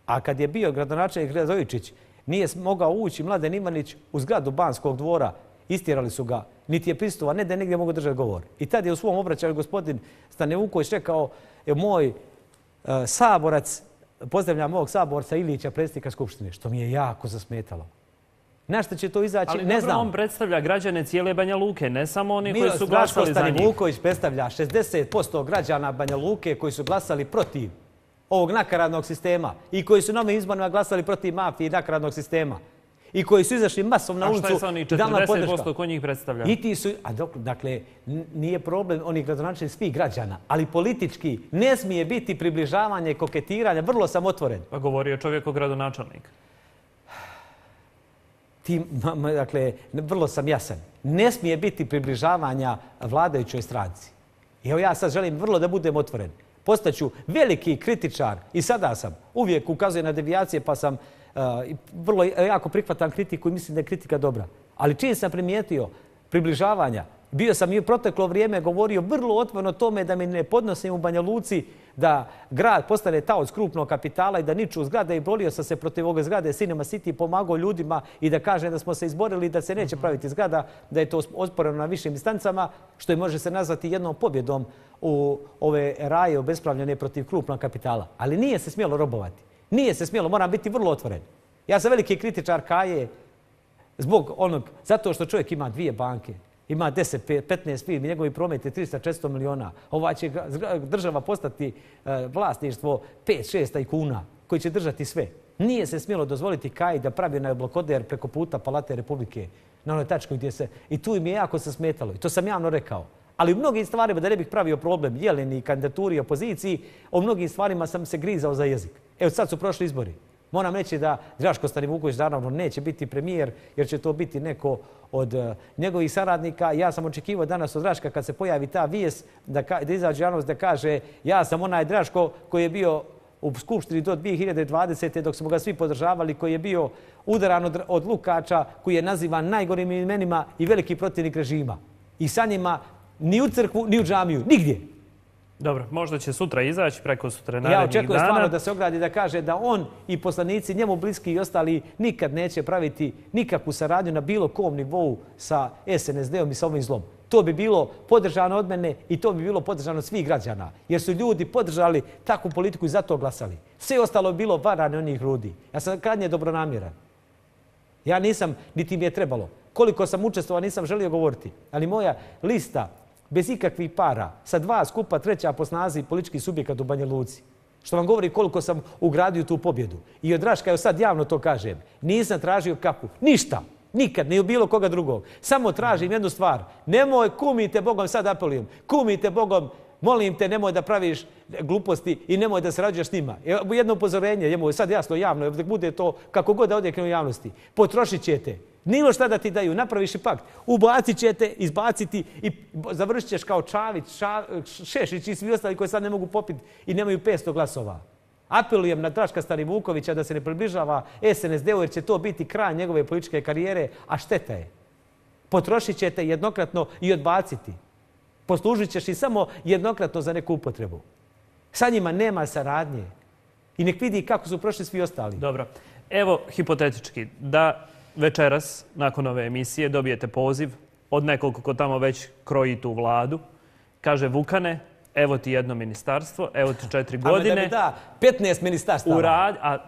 A kad je bio gradonačelnik Radojičić, nije mogao ući Mladen Ivanić u zgradu Banskog dvora. Istjerali su ga, niti je pristupa, ne da je negdje mogu držati govor. I tad je u svom obraćanju gospodin Stane Vuković rekao, moj saborac, pozdravljam mog saborca Ilića, predsjednika Skupštine, što mi je jako zasmetalo. Na što će to izaći, ne znam. Ali on predstavlja građane cijele Banja Luke, ne samo oni koji su glasali za njih. Stani Vuković predstavlja 60% građana Banja Luke koji su glasali protiv ovog nakaradnog sistema i koji su na ovim izborima glasali protiv mafije i nakaradnog sistema i koji su izašli masom na ulicu. A šta je sa onih 40% koji njih predstavlja? I ti su, dakle, nije problem onih gradonačelnika svih građana, ali politički ne smije biti približavanje, koketiranja, vrlo sam otvoren. Pa govorio čovjek o gradonačelnika. Dakle, vrlo sam jasan. Ne smije biti približavanja vladajućoj stranci. Evo ja sad želim vrlo da budem otvoren. Postaću veliki kritičar i sada sam. Uvijek ukazujem na devijacije pa sam vrlo jako prihvatam kritiku i mislim da je kritika dobra. Ali čim sam primijetio približavanja, bio sam i u proteklo vrijeme govorio vrlo otvoreno o tome da mi ne podnosim u Banja Luci da grad postane taoc krupnog kapitala i da niču zgrade i borio sam se protiv ove zgrade Cinema City, pomagao ljudima i da kažem da smo se izborili da se neće praviti zgrada, da je to osporeno na višim instancama, što je može se nazvati jednom pobjedom u ove raje obespravljene protiv krupnog kapitala. Ali nije se smjelo robovati. Nije se smjelo, moram biti vrlo otvoren. Ja sam veliki kritičar Kaje zbog onog, zato što čovjek ima 2 banke. Ima 10-15 firmi, njegovi promet je 300-400 miliona. Ova će država postati vlasništvo 5-6 tajkuna koji će držati sve. Nije se smjelo dozvoliti Kaji da pravi onaj blokoder preko puta Palate Republike na onoj tačku gdje se... I tu im je jako se smetalo. I to sam javno rekao. Ali u mnogim stvarima, da ne bih pravio problem Jeleni, kandidaturi, opoziciji, o mnogim stvarima sam se grizao za jezik. Evo sad su prošli izbori. Moram reći da Draško Stanivuković naravno neće biti premijer jer će to biti neko od njegovih saradnika. Ja sam očekivao danas od Draška kad se pojavi ta vijest da izađe javnost da kaže ja sam onaj Draško koji je bio u Skupštini do 2020. dok smo ga svi podržavali, koji je bio udaran od Lukača, koji je nazivan najgorim imenima i veliki protivnik režima. I sa njima ni u crkvu, ni u džamiju, nigdje. Dobro, možda će sutra izaći, preko sutra narednih dana. Ja očekujem stvarno da se ogradi da kaže da on i poslanici, njemu bliski i ostali, nikad neće praviti nikakvu saradnju na bilo kom nivou sa SNSD-om i sa ovim zlom. To bi bilo podržano od mene i to bi bilo podržano od svih građana. Jer su ljudi podržali takvu politiku i zato glasali. Sve ostalo bi bilo varane onih ljudi. Ja sam krajnje dobronamjeran. Ja nisam, niti mi je trebalo. Koliko sam učestvovao nisam želio govoriti. Ali moja lista bez ikakvih para, sa 2 skupa 3. po snazi politički subjekat u Banja Luci. Što vam govori koliko sam ugradio tu pobjedu. I od Draška, evo sad javno to kažem, nisam tražio kapu. Ništa. Nikad, ni u bilo koga drugog. Samo tražim jednu stvar. Nemoj, kumite Bogom, sad apelujem, kumite Bogom, molim te, nemoj da praviš gluposti i nemoj da sarađuješ s njima. Jedno upozorenje, je sad jasno, javno, da bude to kako god da odjekne u javnosti. Potrošit ćete. Nilo šta da ti daju, napraviš i pakt. Ubacit ćete, izbaciti i završit ćeš kao Čavić, Šešić i svi ostali koji sad ne mogu popiti i nemaju 500 glasova. Apelujem na Draška Stanivukovića da se ne približava SNSD-u jer će to biti kraj njegove političke karijere, a šteta je. Potrošit ćete jednokratno i odbaciti. Poslužit ćeš i samo jednokratno za neku upotrebu. Sa njima nema saradnje. I nek vidi kako su prošli svi ostali. Dobro. Evo, hipotetički, da večeras, nakon ove emisije, dobijete poziv od nekog ko tamo već kroji tu vladu. Kaže, Vukane, evo ti jedno ministarstvo, evo ti 4 godine. Ali da mi da 15 ministarstava.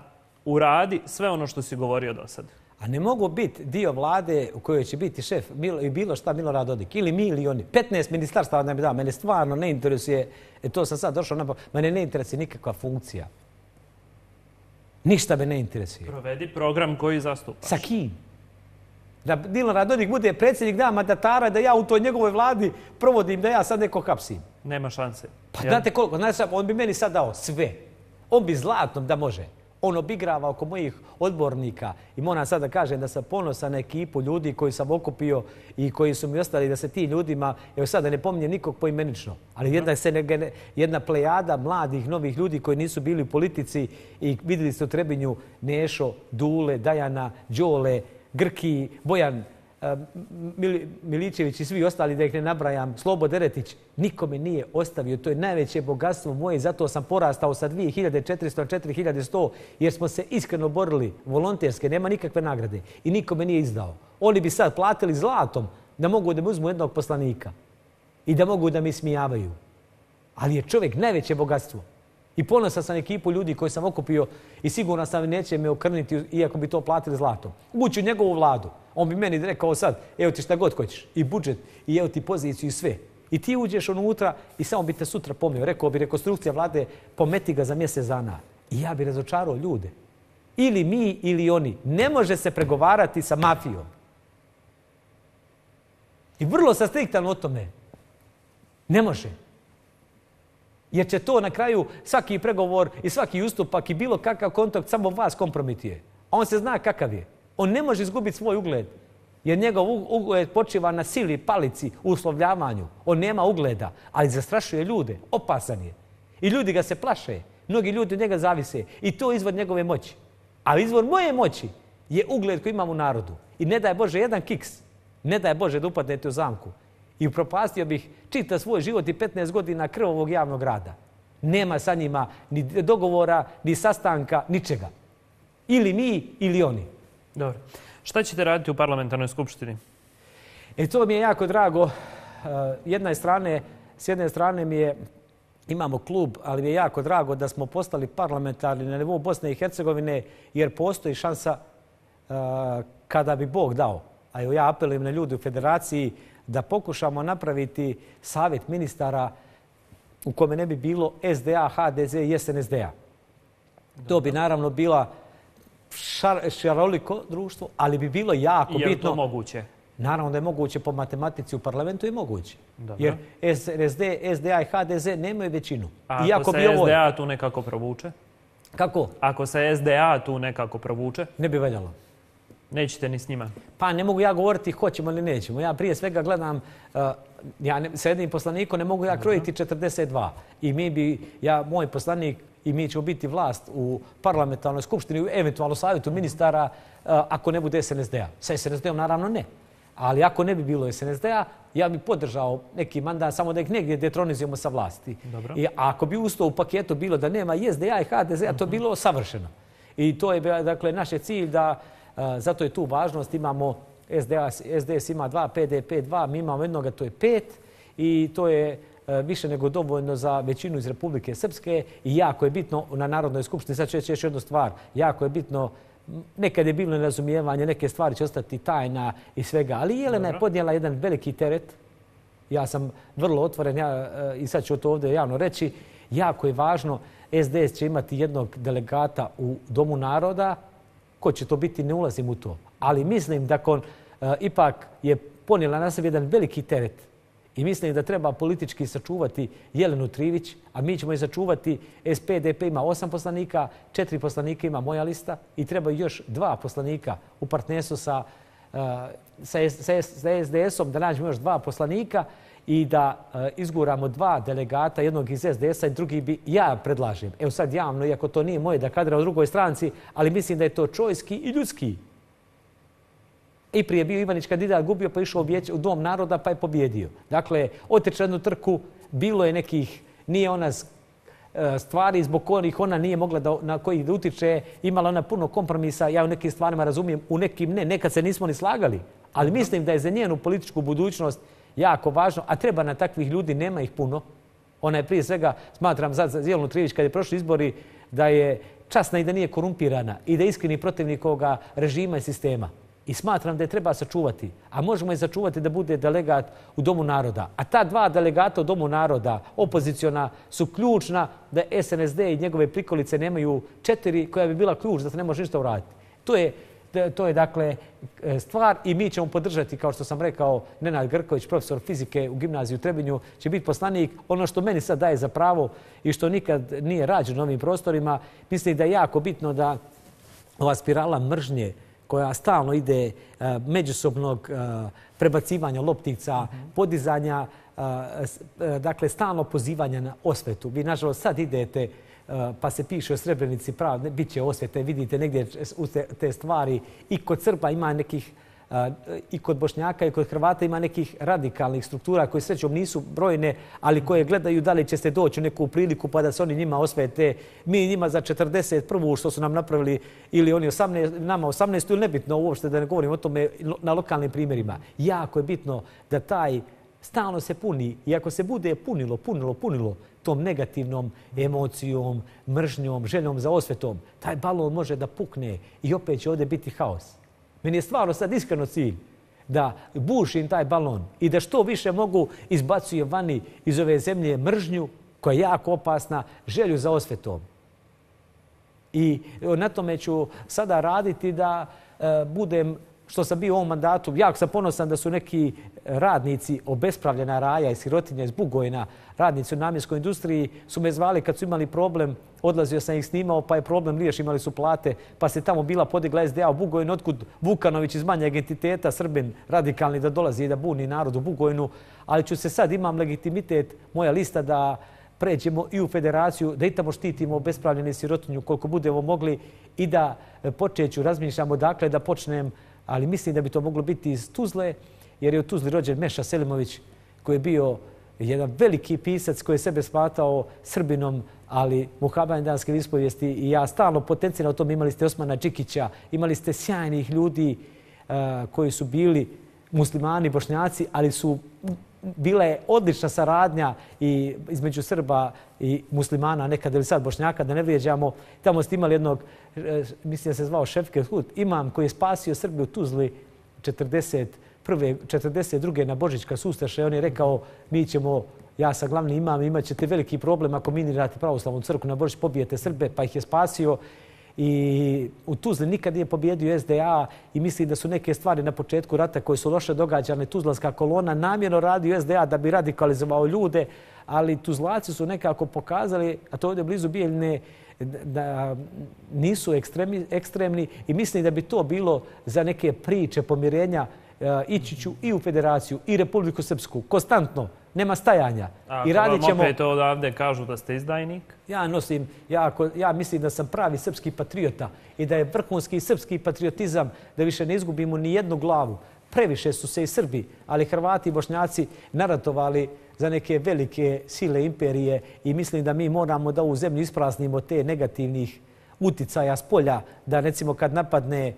Uradi sve ono što si govorio do sad. A ne mogu biti dio vlade u kojoj će biti šef i bilo šta Milorad Dodik. Ili mi ili oni. 15 ministarstava da mi da. Mene stvarno ne interesuje. To sam sad došao na... Mene ne interesuje nikakva funkcija. Ništa me ne interesuje. Provedi program koji zastupaš. Sa kim? Da Milorad Dodik bude predsjednik, da mandatara, da ja u toj njegovoj vladi provodim, da ja sad neko hapsim. Nema šanse. Pa znate koliko? Znači, on bi meni sad dao sve. On bi zlatnom da može. On obigrava oko mojih odbornika i moram sad da kažem da sam ponosan na ekipu ljudi koji sam okupio i koji su mi ostali da se ti ljudima, evo sad da ne pominjem nikog poimenično, ali jedna plejada mladih, novih ljudi koji nisu bili u politici i vidjeli ste u Trebinju Nešo, Dule, Dajana, Đole, Grki, Bojan Miličević i svi ostali, da ih ne nabrajam, Slobo Deretić, nikome nije ostavio. To je najveće bogatstvo moje, zato sam porastao sa 2400 na 4100, jer smo se iskreno borili, volonterske, nema nikakve nagrade i nikome nije izdao. Oni bi sad platili zlatom da mogu da mi uzmu jednog poslanika i da mogu da mi smijavaju. Ali je čovjek najveće bogatstvo. I ponosan sam ekipu ljudi koji sam okupio i sigurno sam neće me okrniti iako bi to platili zlatom. Ući u njegovu vladu. On bi meni rekao sad, evo ti šta god hoćeš. I budžet, i evo ti poziciju i sve. I ti uđeš unutra i samo bi te sutra pomio. Rekao bi rekonstrukcija vlade, pometi ga za mjesec dana. I ja bi razočarao ljude. Ili mi ili oni. Ne može se pregovarati sa mafijom. I vrlo sam striktan o tome. Ne može. Jer će to na kraju svaki pregovor i svaki ustupak i bilo kakav kontakt samo vas kompromituje. A on se zna kakav je. On ne može izgubiti svoj ugled. Jer njegov ugled počiva na sili, palici, uslovljavanju. On nema ugleda, ali zastrašuje ljude. Opasan je. I ljudi ga se plaše. Mnogi ljudi od njega zavise. I to je izvor njegove moći. Ali izvor moje moći je ugled koji imam u narodu. I ne daj Bože jedan kiks. Ne daj Bože da upadnete u zamku. I upropastio bih čitav svoj život i 15 godina krvavog javnog rada. Nema sa njima ni dogovora, ni sastanka, ničega. Ili mi, ili oni. Dobro. Šta ćete raditi u parlamentarnoj skupštini? To mi je jako drago. S jedne strane imamo klub, ali mi je jako drago da smo postali parlamentarni na nivou Bosne i Hercegovine, jer postoji šansa kada bi Bog dao. A ja apelujem na ljude u federaciji da pokušamo napraviti savjet ministara u kome ne bi bilo SDA, HDZ i SNSD-a. To bi naravno bila šaroliko društvo, ali bi bilo jako bitno... Je li to moguće? Naravno da je moguće po matematici u parlamentu i moguće. Dobro. Jer SDA i HDZ nemaju većinu. A ako se SDA tu nekako provuče? Kako? Ako se SDA tu nekako provuče? Ne bi valjalo. Nećete ni s njima? Pa ne mogu ja govoriti hoćemo ili nećemo. Ja prije svega gledam, sa jednim poslanikom ne mogu ja krojiti 42. I moj poslanik i mi ćemo biti vlast u parlamentarnoj skupštini, eventualno savjetu ministara, ako ne bude SNSD-a. Sa SNSD-om naravno ne. Ali ako ne bi bilo SNSD-a, ja bih podržao neki mandat, samo da ih negdje detronizujemo sa vlasti. A ako bi usto u paketu bilo da nema i SDA i HDZ-a, to bilo savršeno. I to je dakle naš cilj da... Zato je tu važnost, imamo SDS ima 2, PDP 2, mi imamo jednoga, to je 5 i to je više nego dovoljno za većinu iz Republike Srpske i jako je bitno na Narodnoj skupštini, sad ću reći još jednu stvar, jako je bitno, nekad je bilo nerazumijevanje, neke stvari će ostati tajna i svega, ali Jelena je podnijela jedan veliki teret, ja sam vrlo otvoren i sad ću to ovdje javno reći, jako je važno, SDS će imati jednog delegata u Domu naroda. Ko će to biti, ne ulazim u to. Ali mislim da ipak je ponijela na sebi jedan veliki teret. I mislim da treba politički sačuvati Jelenu Trivić, a mi ćemo je sačuvati. SPDP ima 8 poslanika, 4 poslanika ima moja lista i treba još 2 poslanika u partnerstvu sa SDS-om, da nađemo još 2 poslanika i da izguramo 2 delegata, jednog iz SDS-a i drugi bi ja predlažem. Evo sad javno, iako to nije moje da kadra u drugoj stranci, ali mislim da je to čovjski i ljudski. I prije bio Ivanić kandidat, gubio pa išao u Dom naroda pa je pobjedio. Dakle, otiče jednu trku, bilo je nekih, nije ona stvari zbog kojih ona nije mogla na kojih da utiče, imala ona puno kompromisa, ja u nekim stvarima razumijem, u nekim ne, nekad se nismo ni slagali, ali mislim da je za njenu političku budućnost jako važno, a treba na takvih ljudi, nema ih puno. Ona je prije svega, smatram za Jelenu Trijević kad je prošli izbori, da je časna i da nije korumpirana i da je iskreni protivnik ovoga režima i sistema. I smatram da je treba sačuvati. A možemo je sačuvati da bude delegat u Domu naroda. A ta dva delegata u Domu naroda, opoziciona, su ključna da SNSD i njegove prikolice nemaju 4 koja bi bila ključ da se ne može ništa uraditi. To je dakle stvar i mi ćemo podržati, kao što sam rekao, Nenad Grković, profesor fizike u gimnaziji u Trebinju, će biti poslanik. Ono što meni sad daje za pravo i što nikad nije rađeno na ovim prostorima, mislim da je jako bitno da ova spirala mržnje koja stalno ide međusobnog prebacivanja loptica, podizanja, dakle stalno pozivanja na osvetu. Vi, nažalost, sad idete pa se piše o Srebrenici, bit će osvete, vidite negdje te stvari. I kod Srba ima nekih, i kod Bošnjaka i kod Hrvata ima nekih radikalnih struktura koje srećom nisu brojne, ali koje gledaju da li će se doći u neku priliku pa da se oni njima osvete. Mi njima za 41. što su nam napravili ili oni nama 18. ili nebitno uopšte da ne govorim o tome na lokalnim primjerima. Jako je bitno da taj stalno se puni i ako se bude punilo tom negativnom emocijom, mržnjom, željom za osvetom, taj balon može da pukne i opet će ovdje biti haos. Meni je stvarno sad iskreno cilj da bušim taj balon i da što više mogu izbacuje vani iz ove zemlje mržnju koja je jako opasna, želju za osvetom. I na tome ću sada raditi da budem, što sam bio u ovom mandatu, jako sam ponosan da su neki radnici obespravljena Raja i Sirotinja iz Bugojna, radnici u namjenskoj industriji, su me zvali kad su imali problem, odlazio sam ih snimao, pa je problem riješio, imali su plate, pa se tamo bila podigla SDA u Bugojnu, otkud Vukanović iz manjeg entiteta, Srbin radikalni, da dolazi i da buni narod u Bugojnu, ali ću se sad, imam legitimitet, moja lista da pređemo i u federaciju, da i tamo štitimo obespravljene Sirotinju koliko budemo mogli i da počeću, razmišljamo dakle da počnem, ali mislim da bi to moglo biti iz Tuzle, jer je u Tuzli rođen Meša Selimović, koji je bio jedan veliki pisac koji je sebe smatrao Srbinom, ali muhamedanske ispovijesti. I ja stalno potenciram o tom. Imali ste Osmana Đikića, imali ste sjajnih ljudi koji su bili muslimani, Bošnjaci, ali su bila je odlična saradnja i između Srba i muslimana, nekada ili sad Bošnjaka, da ne vrijeđamo. Tamo ste imali jednog, mislim da se zvao Šefket Hut, imam koji je spasio Srbiju u Tuzli 42. na Božić kad su ustaše. On je rekao, mi ćemo, ja sam glavni imam, imat ćete veliki problem ako minirate pravoslavnu crkvu na Božić, pobijete Srbe, pa ih je spasio. I u Tuzli nikad nije pobjedio SDA i mislim da su neke stvari na početku rata koje su loše događane. Tuzlanska kolona namjerno radi SDA da bi radikalizovao ljude, ali Tuzlaci su nekako pokazali, a to ovdje blizu Bijeljine, da nisu ekstremni i mislim da bi to bilo za neke priče pomirenja. Ići ću i u federaciju i Republiku Srpsku, konstantno, nema stajanja. A ako vam opet odavde kažu da ste izdajnik? Ja mislim da sam pravi srpski patriota i da je vrhunski srpski patriotizam da više ne izgubimo ni jednu glavu. Previše su se i Srbi, ali Hrvati i Bošnjaci naratovali za neke velike sile imperije i mislim da mi moramo da ovu zemlju ispraznimo te negativnih uticaja s polja, da recimo kad napadne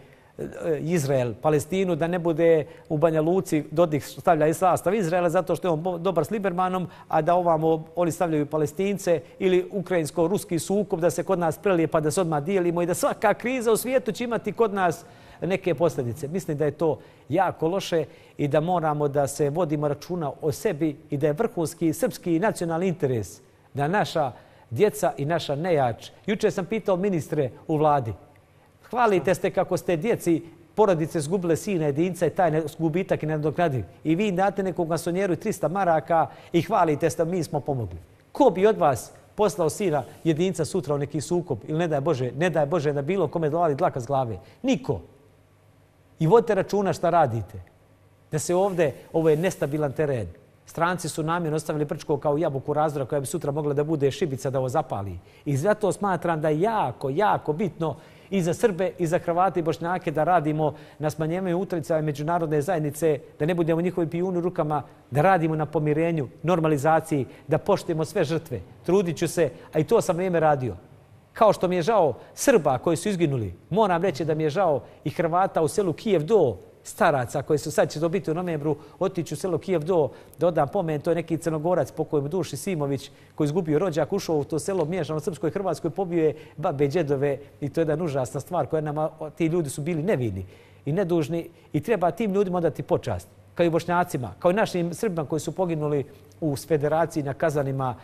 Izrael, Palestinu, da ne bude u Banja Luci Dodik stavlja i sastav Izraela zato što je on dobar s Libermanom, a da ovamo oni stavljaju Palestince ili ukrajinsko-ruski sukob da se kod nas prelije pa da se odmah dijelimo i da svaka kriza u svijetu će imati kod nas neke posljedice. Mislim da je to jako loše i da moramo da se vodimo računa o sebi i da je vrhunski srpski nacionalni interes da naša djeca i naša nejač. Jučer sam pitao ministre u vladi, hvalite ste kako ste djeci porodice zgubile sina jedinca i taj gubitak je nenadoknadiv. I vi date nekog masonjeru 300 maraka i hvalite ste mi smo pomogli. Ko bi od vas poslao sina jedinca sutra u neki sukob ili ne daj Bože da bilo kome dolazi dlaka s glave? Niko. I vodite računa šta radite. Da se ovdje, ovo je nestabilan teren. Stranci su namjerno ostavili Brčko kao jabuku razdora koja bi sutra mogla da bude šibica da ovo zapali. I zato smatram da je jako, jako bitno i za Srbe, i za Hrvate i Bošnjake da radimo na smanjenju utjecaja međunarodne zajednice, da ne budemo njihovi pijuni u rukama, da radimo na pomirenju, normalizaciji, da poštujemo sve žrtve. Trudit ću se, a i to sam vrijeme radio. Kao što mi je žao Srba koji su izginuli, moram reći da mi je žao i Hrvata u selu Kijev Do, staraca koji su sad će to biti u novembru, otići u selo Kijev Do, da odam pomen, to je neki Crnogorac pokojom Duši Simović koji izgubio rođak, ušao u to selo miješano Srpskoj i Hrvatskoj, pobio je babe i džedove i to je jedna užasna stvar koja nama, ti ljudi su bili nevini i nedužni i treba tim ljudima odati počast, kao i Bošnjacima, kao i našim Srbima koji su poginuli u federaciji na kazanima.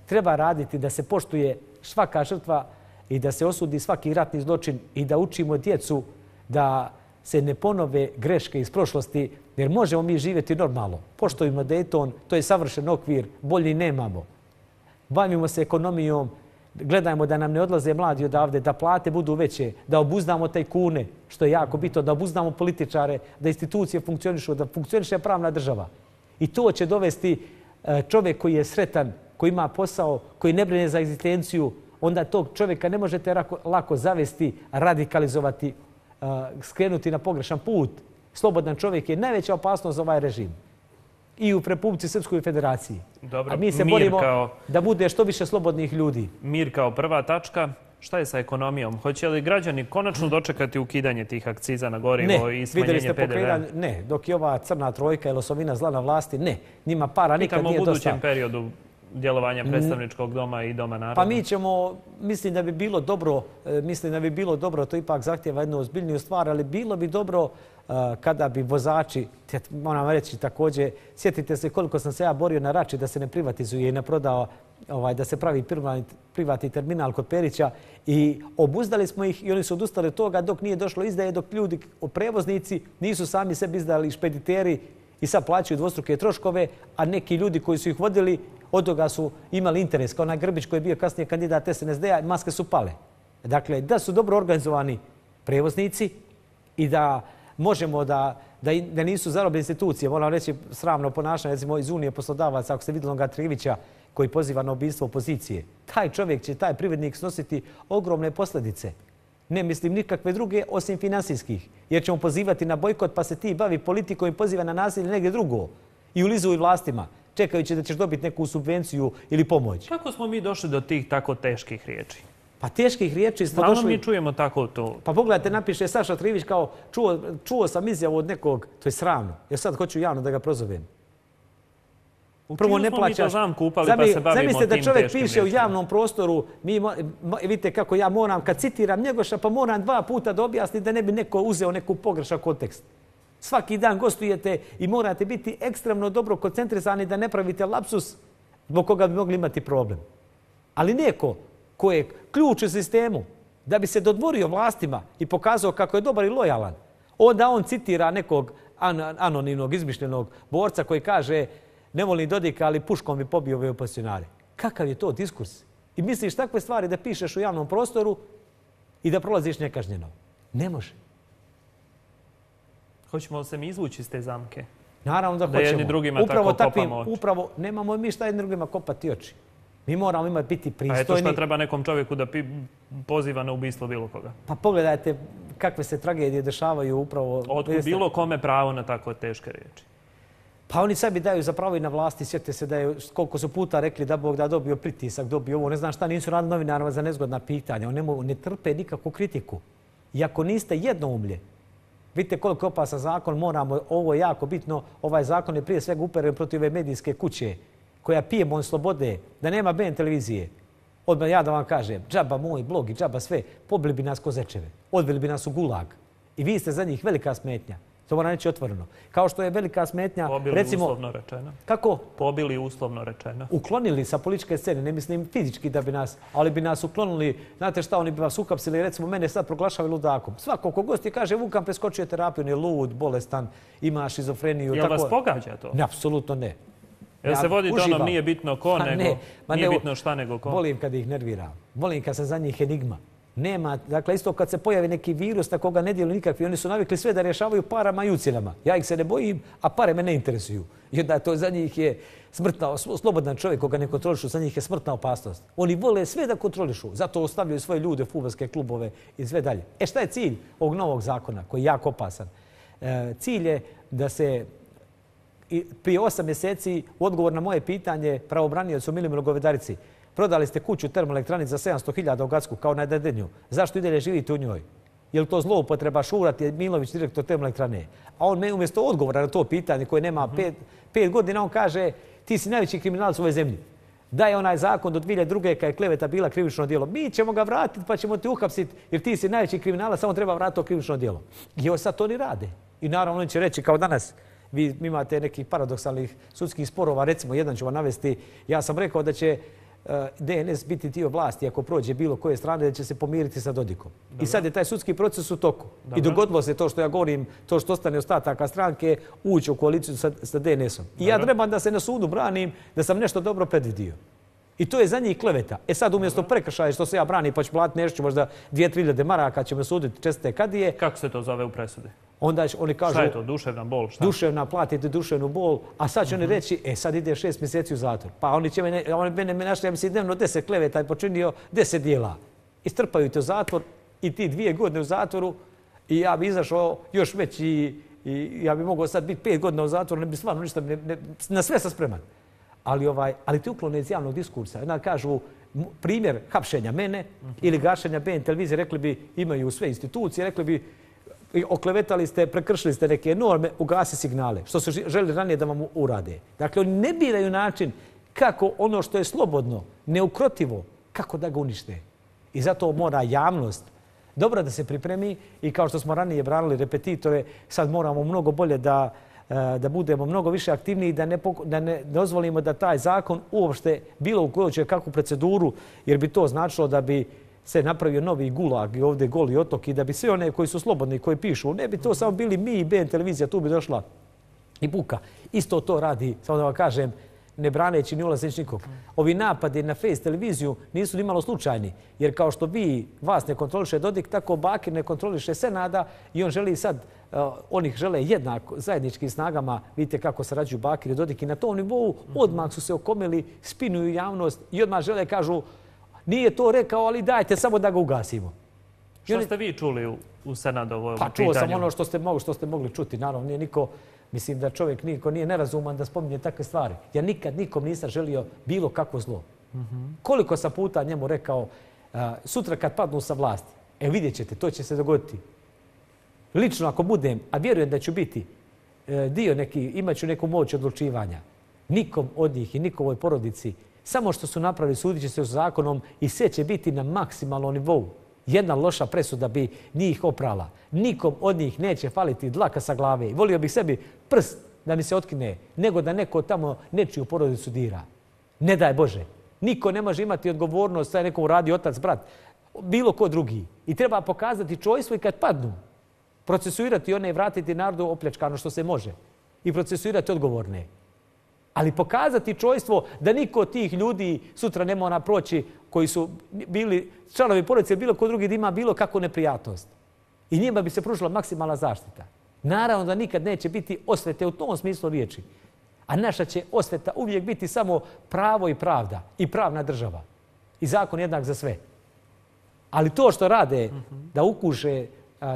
Treba raditi da se poštuje svaka žrtva i da se osudi svaki ratni zločin i da učimo djecu da se ne ponove greške iz prošlosti, jer možemo mi živjeti normalno. Poštujemo Dayton, to je savršen okvir, bolji nemamo. Bavimo se ekonomijom, gledajmo da nam ne odlaze mladi odavde, da plate budu veće, da obuzdamo tajkune, što je jako bitno, da obuzdamo političare, da institucije funkcionišu, da funkcioniše pravna država. I to će dovesti čovjek koji je sretan, koji ima posao, koji ne brine za egzistenciju, onda tog čovjeka ne možete lako zavesti, radikalizovati, skrenuti na pogrešan put. Slobodan čovjek je najveća opasnost za ovaj režim. I u Republici Srpskoj federaciji. Dobro, a mi se borimo da bude što više slobodnih ljudi. Mir kao prva tačka. Šta je sa ekonomijom? Hoće li građani konačno dočekati ukidanje tih akciza na gorivo i smanjenje PDV-a? Ne, dok je ova crna trojka ili osovina zla na vlasti, ne. Njima para nikad nije dosta. U budućem periodu djelovanja predstavničkog doma i doma naroda? Pa mi ćemo, mislim da bi bilo dobro, to ipak zahtjeva jednu ozbiljniju stvar, ali bilo bi dobro kada bi vozači, moram reći također, sjetite se koliko sam se ja borio na Rači da se ne privatizuje i ne prodao, da se pravi privatni terminal kod Perića i obuzdali smo ih i oni su odustali od toga dok nije došlo izdaje, dok ljudi, prevoznici nisu sami sebi izdali, špediteri i sad plaćaju dvostruke troškove, a neki ljudi koji su ih vodili od toga su imali interes, kao onaj Grbić koji je bio kasnije kandidat SNSD-a, maske su pale. Dakle, da su dobro organizovani prevoznici i da možemo da nisu zarobljene institucije. Moram reći sramno ponašanje, recimo iz Unije poslodavaca, ako ste vidjeli onoga Trivića koji poziva na ubijstvo opozicije. Taj čovjek će, taj privrednik snositi ogromne posljedice. Ne mislim nikakve druge osim finansijskih. Jer ćemo pozivati na bojkot pa se ti bavi politikom i poziva na nasilje negdje drugo. I ulizuju vlastima, čekajući da ćeš dobiti neku subvenciju ili pomoć. Kako smo mi došli do tih tako teških riječi? Pa teških riječi smo došli... Stalno mi čujemo tako to. Pa pogledajte, napiše Saša Trivić kao čuo sam izjavu od nekog, to je sravno. Ja sad hoću javno da ga prozovem. Prvo ne plaćaš. Zamislite da čovjek piše u javnom prostoru, vidite kako ja moram, kad citiram Njegoša, pa moram 2 puta da objasnim da ne bi neko uzeo neku pogrešan kontekst. Svaki dan gostujete i morate biti ekstremno dobro koncentrisani da ne pravite lapsus zbog koga bi mogli imati problem. Ali neko ko je ključ u sistemu da bi se dodvorio vlastima i pokazao kako je dobar i lojalan, onda on citira nekog anonimnog, izmišljenog borca koji kaže ne volim Dodika, ali puškom bi pobio ove opozicionare. Kakav je to diskurs? I misliš takve stvari da pišeš u javnom prostoru i da prolaziš nekažnjeno? Ne može. Hoćemo li se mi izvući iz te zamke? Naravno da hoćemo. Da jedni drugima tako kopamo oči. Upravo, nemamo mi šta jedni drugima kopati oči. Mi moramo biti pristojni. A eto šta treba nekom čovjeku da poziva na ubistvo bilo koga? Pa pogledajte kakve se tragedije dešavaju upravo... Otkud bilo kome pravo na tako teške riječi? Pa oni sebi daju za pravo i na vlasti. Sjetite se da je koliko su puta rekli da Bog da dobio pritisak, dobio ovo. Ne znam šta, nisu radili novinarima za nezgodna pitanja. Oni ne trpe nikakvu kritiku. I ako niste jednoumlje, vidite koliko je opasan zakon, moramo, ovo je jako bitno, ovaj zakon je prije svega uperen protiv ove medijske kuće koja pije mon slobode, da nema BN televizije. Odmah ja da vam kažem, džaba moj blog i džaba sve, pobili bi nas ko zečeve, odveli bi nas u gulag. I vi ste za njih velika smetnja. To moram reći otvoreno. Kao što je velika smetnja, pobili recimo... uslovno rečeno. Kako? Pobili uslovno rečeno. Uklonili sa političke scene, ne mislim fizički da bi nas, ali bi nas uklonili. Znate šta, oni bi vas ukapsili, recimo mene sad proglašavaju ludakom. Svako ko gosti kaže, Vukan preskočio terapiju, on je lud, bolestan, ima šizofreniju. Jel vas pogađa to? Ne, apsolutno ne. Jel se vodite onom nije bitno ko, nego nije bitno šta nego ko? Volim kad ih nerviram. Volim kad sam za njih enigma. Nema, dakle, isto kad se pojavi neki virus na koga ne djeluju nikakvi, oni su navikli sve da rješavaju parama i ucjenama. Ja ih se ne bojim, a pare me ne interesuju. I onda to za njih je slobodan čovjek koga ne kontrolišu, za njih je smrtna opasnost. Oni vole sve da kontrolišu, zato ostavljaju svoje ljude u fudbalske klubove i sve dalje. Šta je cilj ovog novog zakona koji je jako opasan? Cilj je da se prije 8 mjeseci u odgovor na moje pitanje pravobraniocu Milimiru Govedarici prodali ste kuću u termoelektrani za 700.000 u Gacku kao na Dedinju. Zašto i dalje živite u njoj? Je li to zloupotreba Šurat je Milović, direktor termoelektrane? A on me umjesto odgovora na to pitanje koje nema 5 godina, on kaže ti si najveći kriminalac u ovoj zemlji. Da je onaj zakon do 2002. kad je kleveta bila krivično djelo. Mi ćemo ga vratiti pa ćemo te uhapsiti jer ti si najveći kriminalac, samo treba vratiti to krivično djelo. I evo sad to oni rade. I naravno oni će reći kao danas, vi imate nekih paradoksalnih sudskih sporova, recimo jedan ću vam navesti, ja sam rekao da će DNS biti dio vlasti ako prođe bilo koje strane da će se pomiriti sa Dodikom. Dobro. I sad je taj sudski proces u toku. Dobro. I dogodilo se to što ja govorim, to što ostane ostataka stranke, ući u koaliciju sa DNS-om. I ja trebam da se na sudu branim da sam nešto dobro predvidio. I to je za njih kleveta. Sad umjesto prekršaja što se ja branim pa ću platiti nešto, možda 2-3 maraka ćemo suditi česte kadije. Kako se to zove u presudi? Onda oni kažu... Šta je to? Duševna bol? Šta? Duševna, platite duševnu bol, a sad će oni reći, sad ide 6 mjeseci u zatvor. Pa oni mene našli, ja mislim, dnevno 10 kleveta i počinio 10 dijela. Istrpaju te u zatvor i ti 2 godine u zatvoru i ja bi izašao još veći i ja bi mogao sad biti 5 godina u zatvoru, ne bi stvarno ništa, na sve sam spreman. Ali ti uklone iz javnog diskursa. Onda kažu primjer hapšenja mene ili gašenja BN televizije, rekli bi imaju sve institucije, rekli bi oklevetali ste, prekršili ste neke norme, ugasi signale, što su želi ranije da vam urade. Dakle, oni ne biraju način kako ono što je slobodno, neukrotivo, kako da ga unište. I zato mora javnost dobro da se pripremi i kao što smo ranije branili repetitore, sad moramo mnogo bolje da budemo mnogo više aktivniji, da ne dozvolimo da taj zakon uopšte bilo u kojoj će kakvu proceduru, jer bi to značilo da bi se napravio novi gulag i ovdje Goli otok i da bi sve one koji su slobodni, koji pišu, ne bi to samo bili mi i BN televizija, tu bi došla i buka. Isto to radi, samo da vam kažem, ne braneći ni ulazeći nikog. Ovi napadi na Face televiziju nisu ni malo slučajni, jer kao što vas ne kontroliše Dodik, tako Bakir ne kontroliše Senada i on želi sad, oni žele jednako zajedničkim snagama, vidite kako sarađuju Bakir i Dodik i na tom nivou odmah su se okomili, spinuju javnost i odmah žele, kažu, nije to rekao, ali dajte samo da ga ugasimo. Što ste vi čuli u Senadovom pitanju? Pa čuo sam ono što ste mogli čuti. Naravno, nije niko, mislim da čovjek niko nije nerazuman da spominje takve stvari. Ja nikad nikom nisam želio bilo kakvo zlo. Koliko sam puta njemu rekao, sutra kad padnu sa vlasti, vidjet ćete, to će se dogoditi. Lično ako budem, a vjerujem da ću biti dio neki, imat ću neku moć odlučivanja. Nikom od njih i nikovoj porodici, samo što su napravili, sudit će se s zakonom i sve će biti na maksimalnom nivou. Jedna loša presuda bi njih oprala. Nikom od njih neće faliti dlaka sa glave. Volio bih sebi prst da mi se otkine, nego da neko tamo nečiju porodicu dira. Ne daj Bože. Niko ne može imati odgovornost da je nekom radi otac, brat, bilo ko drugi. I treba pokazati čojstvo i kad padnu. Procesuirati one i vratiti narodu opljačkano što se može. I procesuirati odgovorne. Ali pokazati čojstvo da niko od tih ljudi sutra ne mora proći koji su bili članovi porodice ili bilo ko drugi da ima bilo kakvu neprijatnost. I njima bi se pružila maksimalna zaštita. Naravno da nikad neće biti osvete u tom smislu riječi. A naša će osveta uvijek biti samo pravo i pravda i pravna država. I zakon jednak za sve. Ali to što rade da ukuše,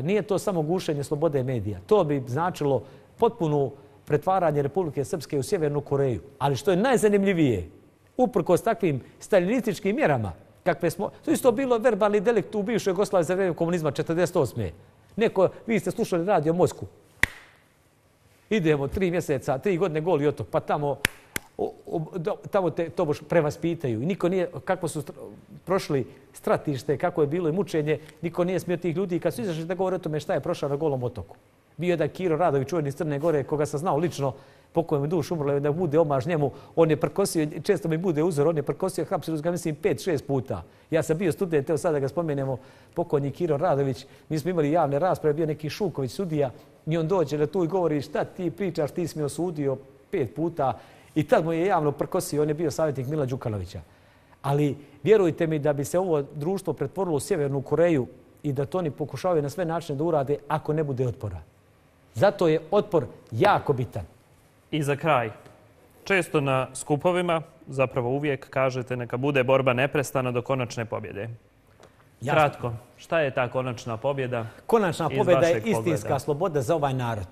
nije to samo gušenje slobode medija. To bi značilo potpunu pretvaranje Republike Srpske u Sjevernu Koreju. Ali što je najzanimljivije, uprkos takvim stalinističkim mjerama, kakve smo, to isto bilo verbalni delikt u bivšoj Jugoslaviji za vrijeme komunizma 1948. Neko, vi ste slušali radio Moskvu. Idemo 3 mjeseca, 3 godine Goli otok, pa tamo te to boš prevaspitaju. I niko nije, kako su prošli stratište, kako je bilo i mučenje, niko nije smio tih ljudi. I kad su izašli da govore o tome šta je prošao na Golom otoku. Bio je jedan Kiro Radović, čuveni iz Crne Gore, koga sam znao lično, pokojom duš umrlo, da bude omaž njemu. On je prkosio, često mi bude uzor, on je prkosio, hapsili su ga, mislim, 5-6 puta. Ja sam bio student, evo sada ga spomenemo, pokojni Kiro Radović. Mi smo imali javne rasprave, bio neki Šuković sudija i on dođe na tu i govori šta ti pričaš, ti si me osudio 5 puta. I tad mu je javno prkosio, on je bio savjetnik Mila Đukanovića. Ali vjerujte mi da bi se ovo društvo pretvorilo u Sjevernu Koreju i da to oni pokušavaju na sve načine da urade ako ne bude otpora. Zato je otpor jako bitan. I za kraj, često na skupovima, zapravo uvijek kažete neka bude borba neprestana do konačne pobjede. Kratko, šta je ta konačna pobjeda? Konačna pobjeda je istinska sloboda za ovaj narod.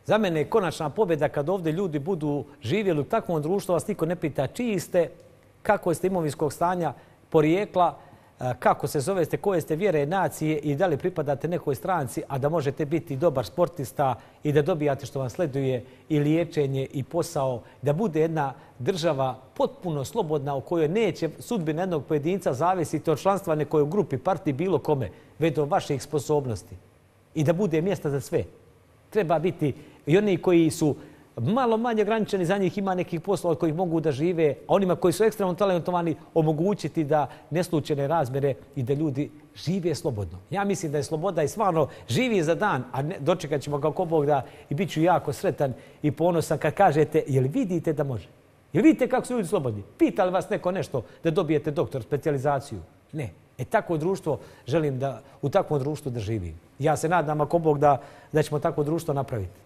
Za mene je konačna pobjeda kad ovdje ljudi budu živjeli u takvom društvu, vas niko ne pita čiji ste, kako ste imovinskog stanja, porijekla, kako se zovete, koje ste vjere, nacije i da li pripadate nekoj stranci, a da možete biti dobar sportista i da dobijate što vam sleduje i liječenje i posao, da bude jedna država potpuno slobodna u kojoj neće sudbina jednog pojedinca zavisiti od članstva nekoj grupi, partiji, bilo kome, već do vaših sposobnosti. I da bude mjesta za sve. Treba biti i oni koji su malo manje ograničeni, za njih ima nekih poslova od kojih mogu da žive, a onima koji su ekstremno talentovani omogućiti da neslučajne razmjere i da ljudi žive slobodno. Ja mislim da je sloboda i stvarno živi za dan, a dočekat ćemo kako Bog da i bit ću jako sretan i ponosan kad kažete jel vidite da može? Jel vidite kako su ljudi slobodni? Pita li vas neko nešto da dobijete doktor, specijalizaciju? Ne. Takvo društvo želim da u takvom društvu da živim. Ja se nadam ako Bog da ćemo takvo društvo napraviti.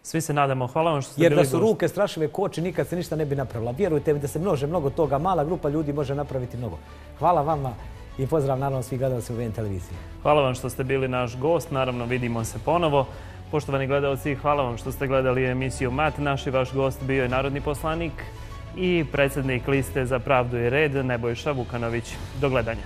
Svi se nadamo. Hvala vam što ste bili gost. Jer da su ruke strašive koči, nikad se ništa ne bi napravila. Vjerujte mi da se mnogo toga. Mala grupa ljudi može napraviti mnogo. Hvala vama i pozdrav naravno svih gledalci u VN televiziji. Hvala vam što ste bili naš gost. Naravno vidimo se ponovo. Poštovani gledalci, hvala vam što ste gledali emisiju MAT. Naš i vaš gost bio je narodni poslanik i predsjednik liste Za pravdu i red Nebojša Vukanović. Do gledanja.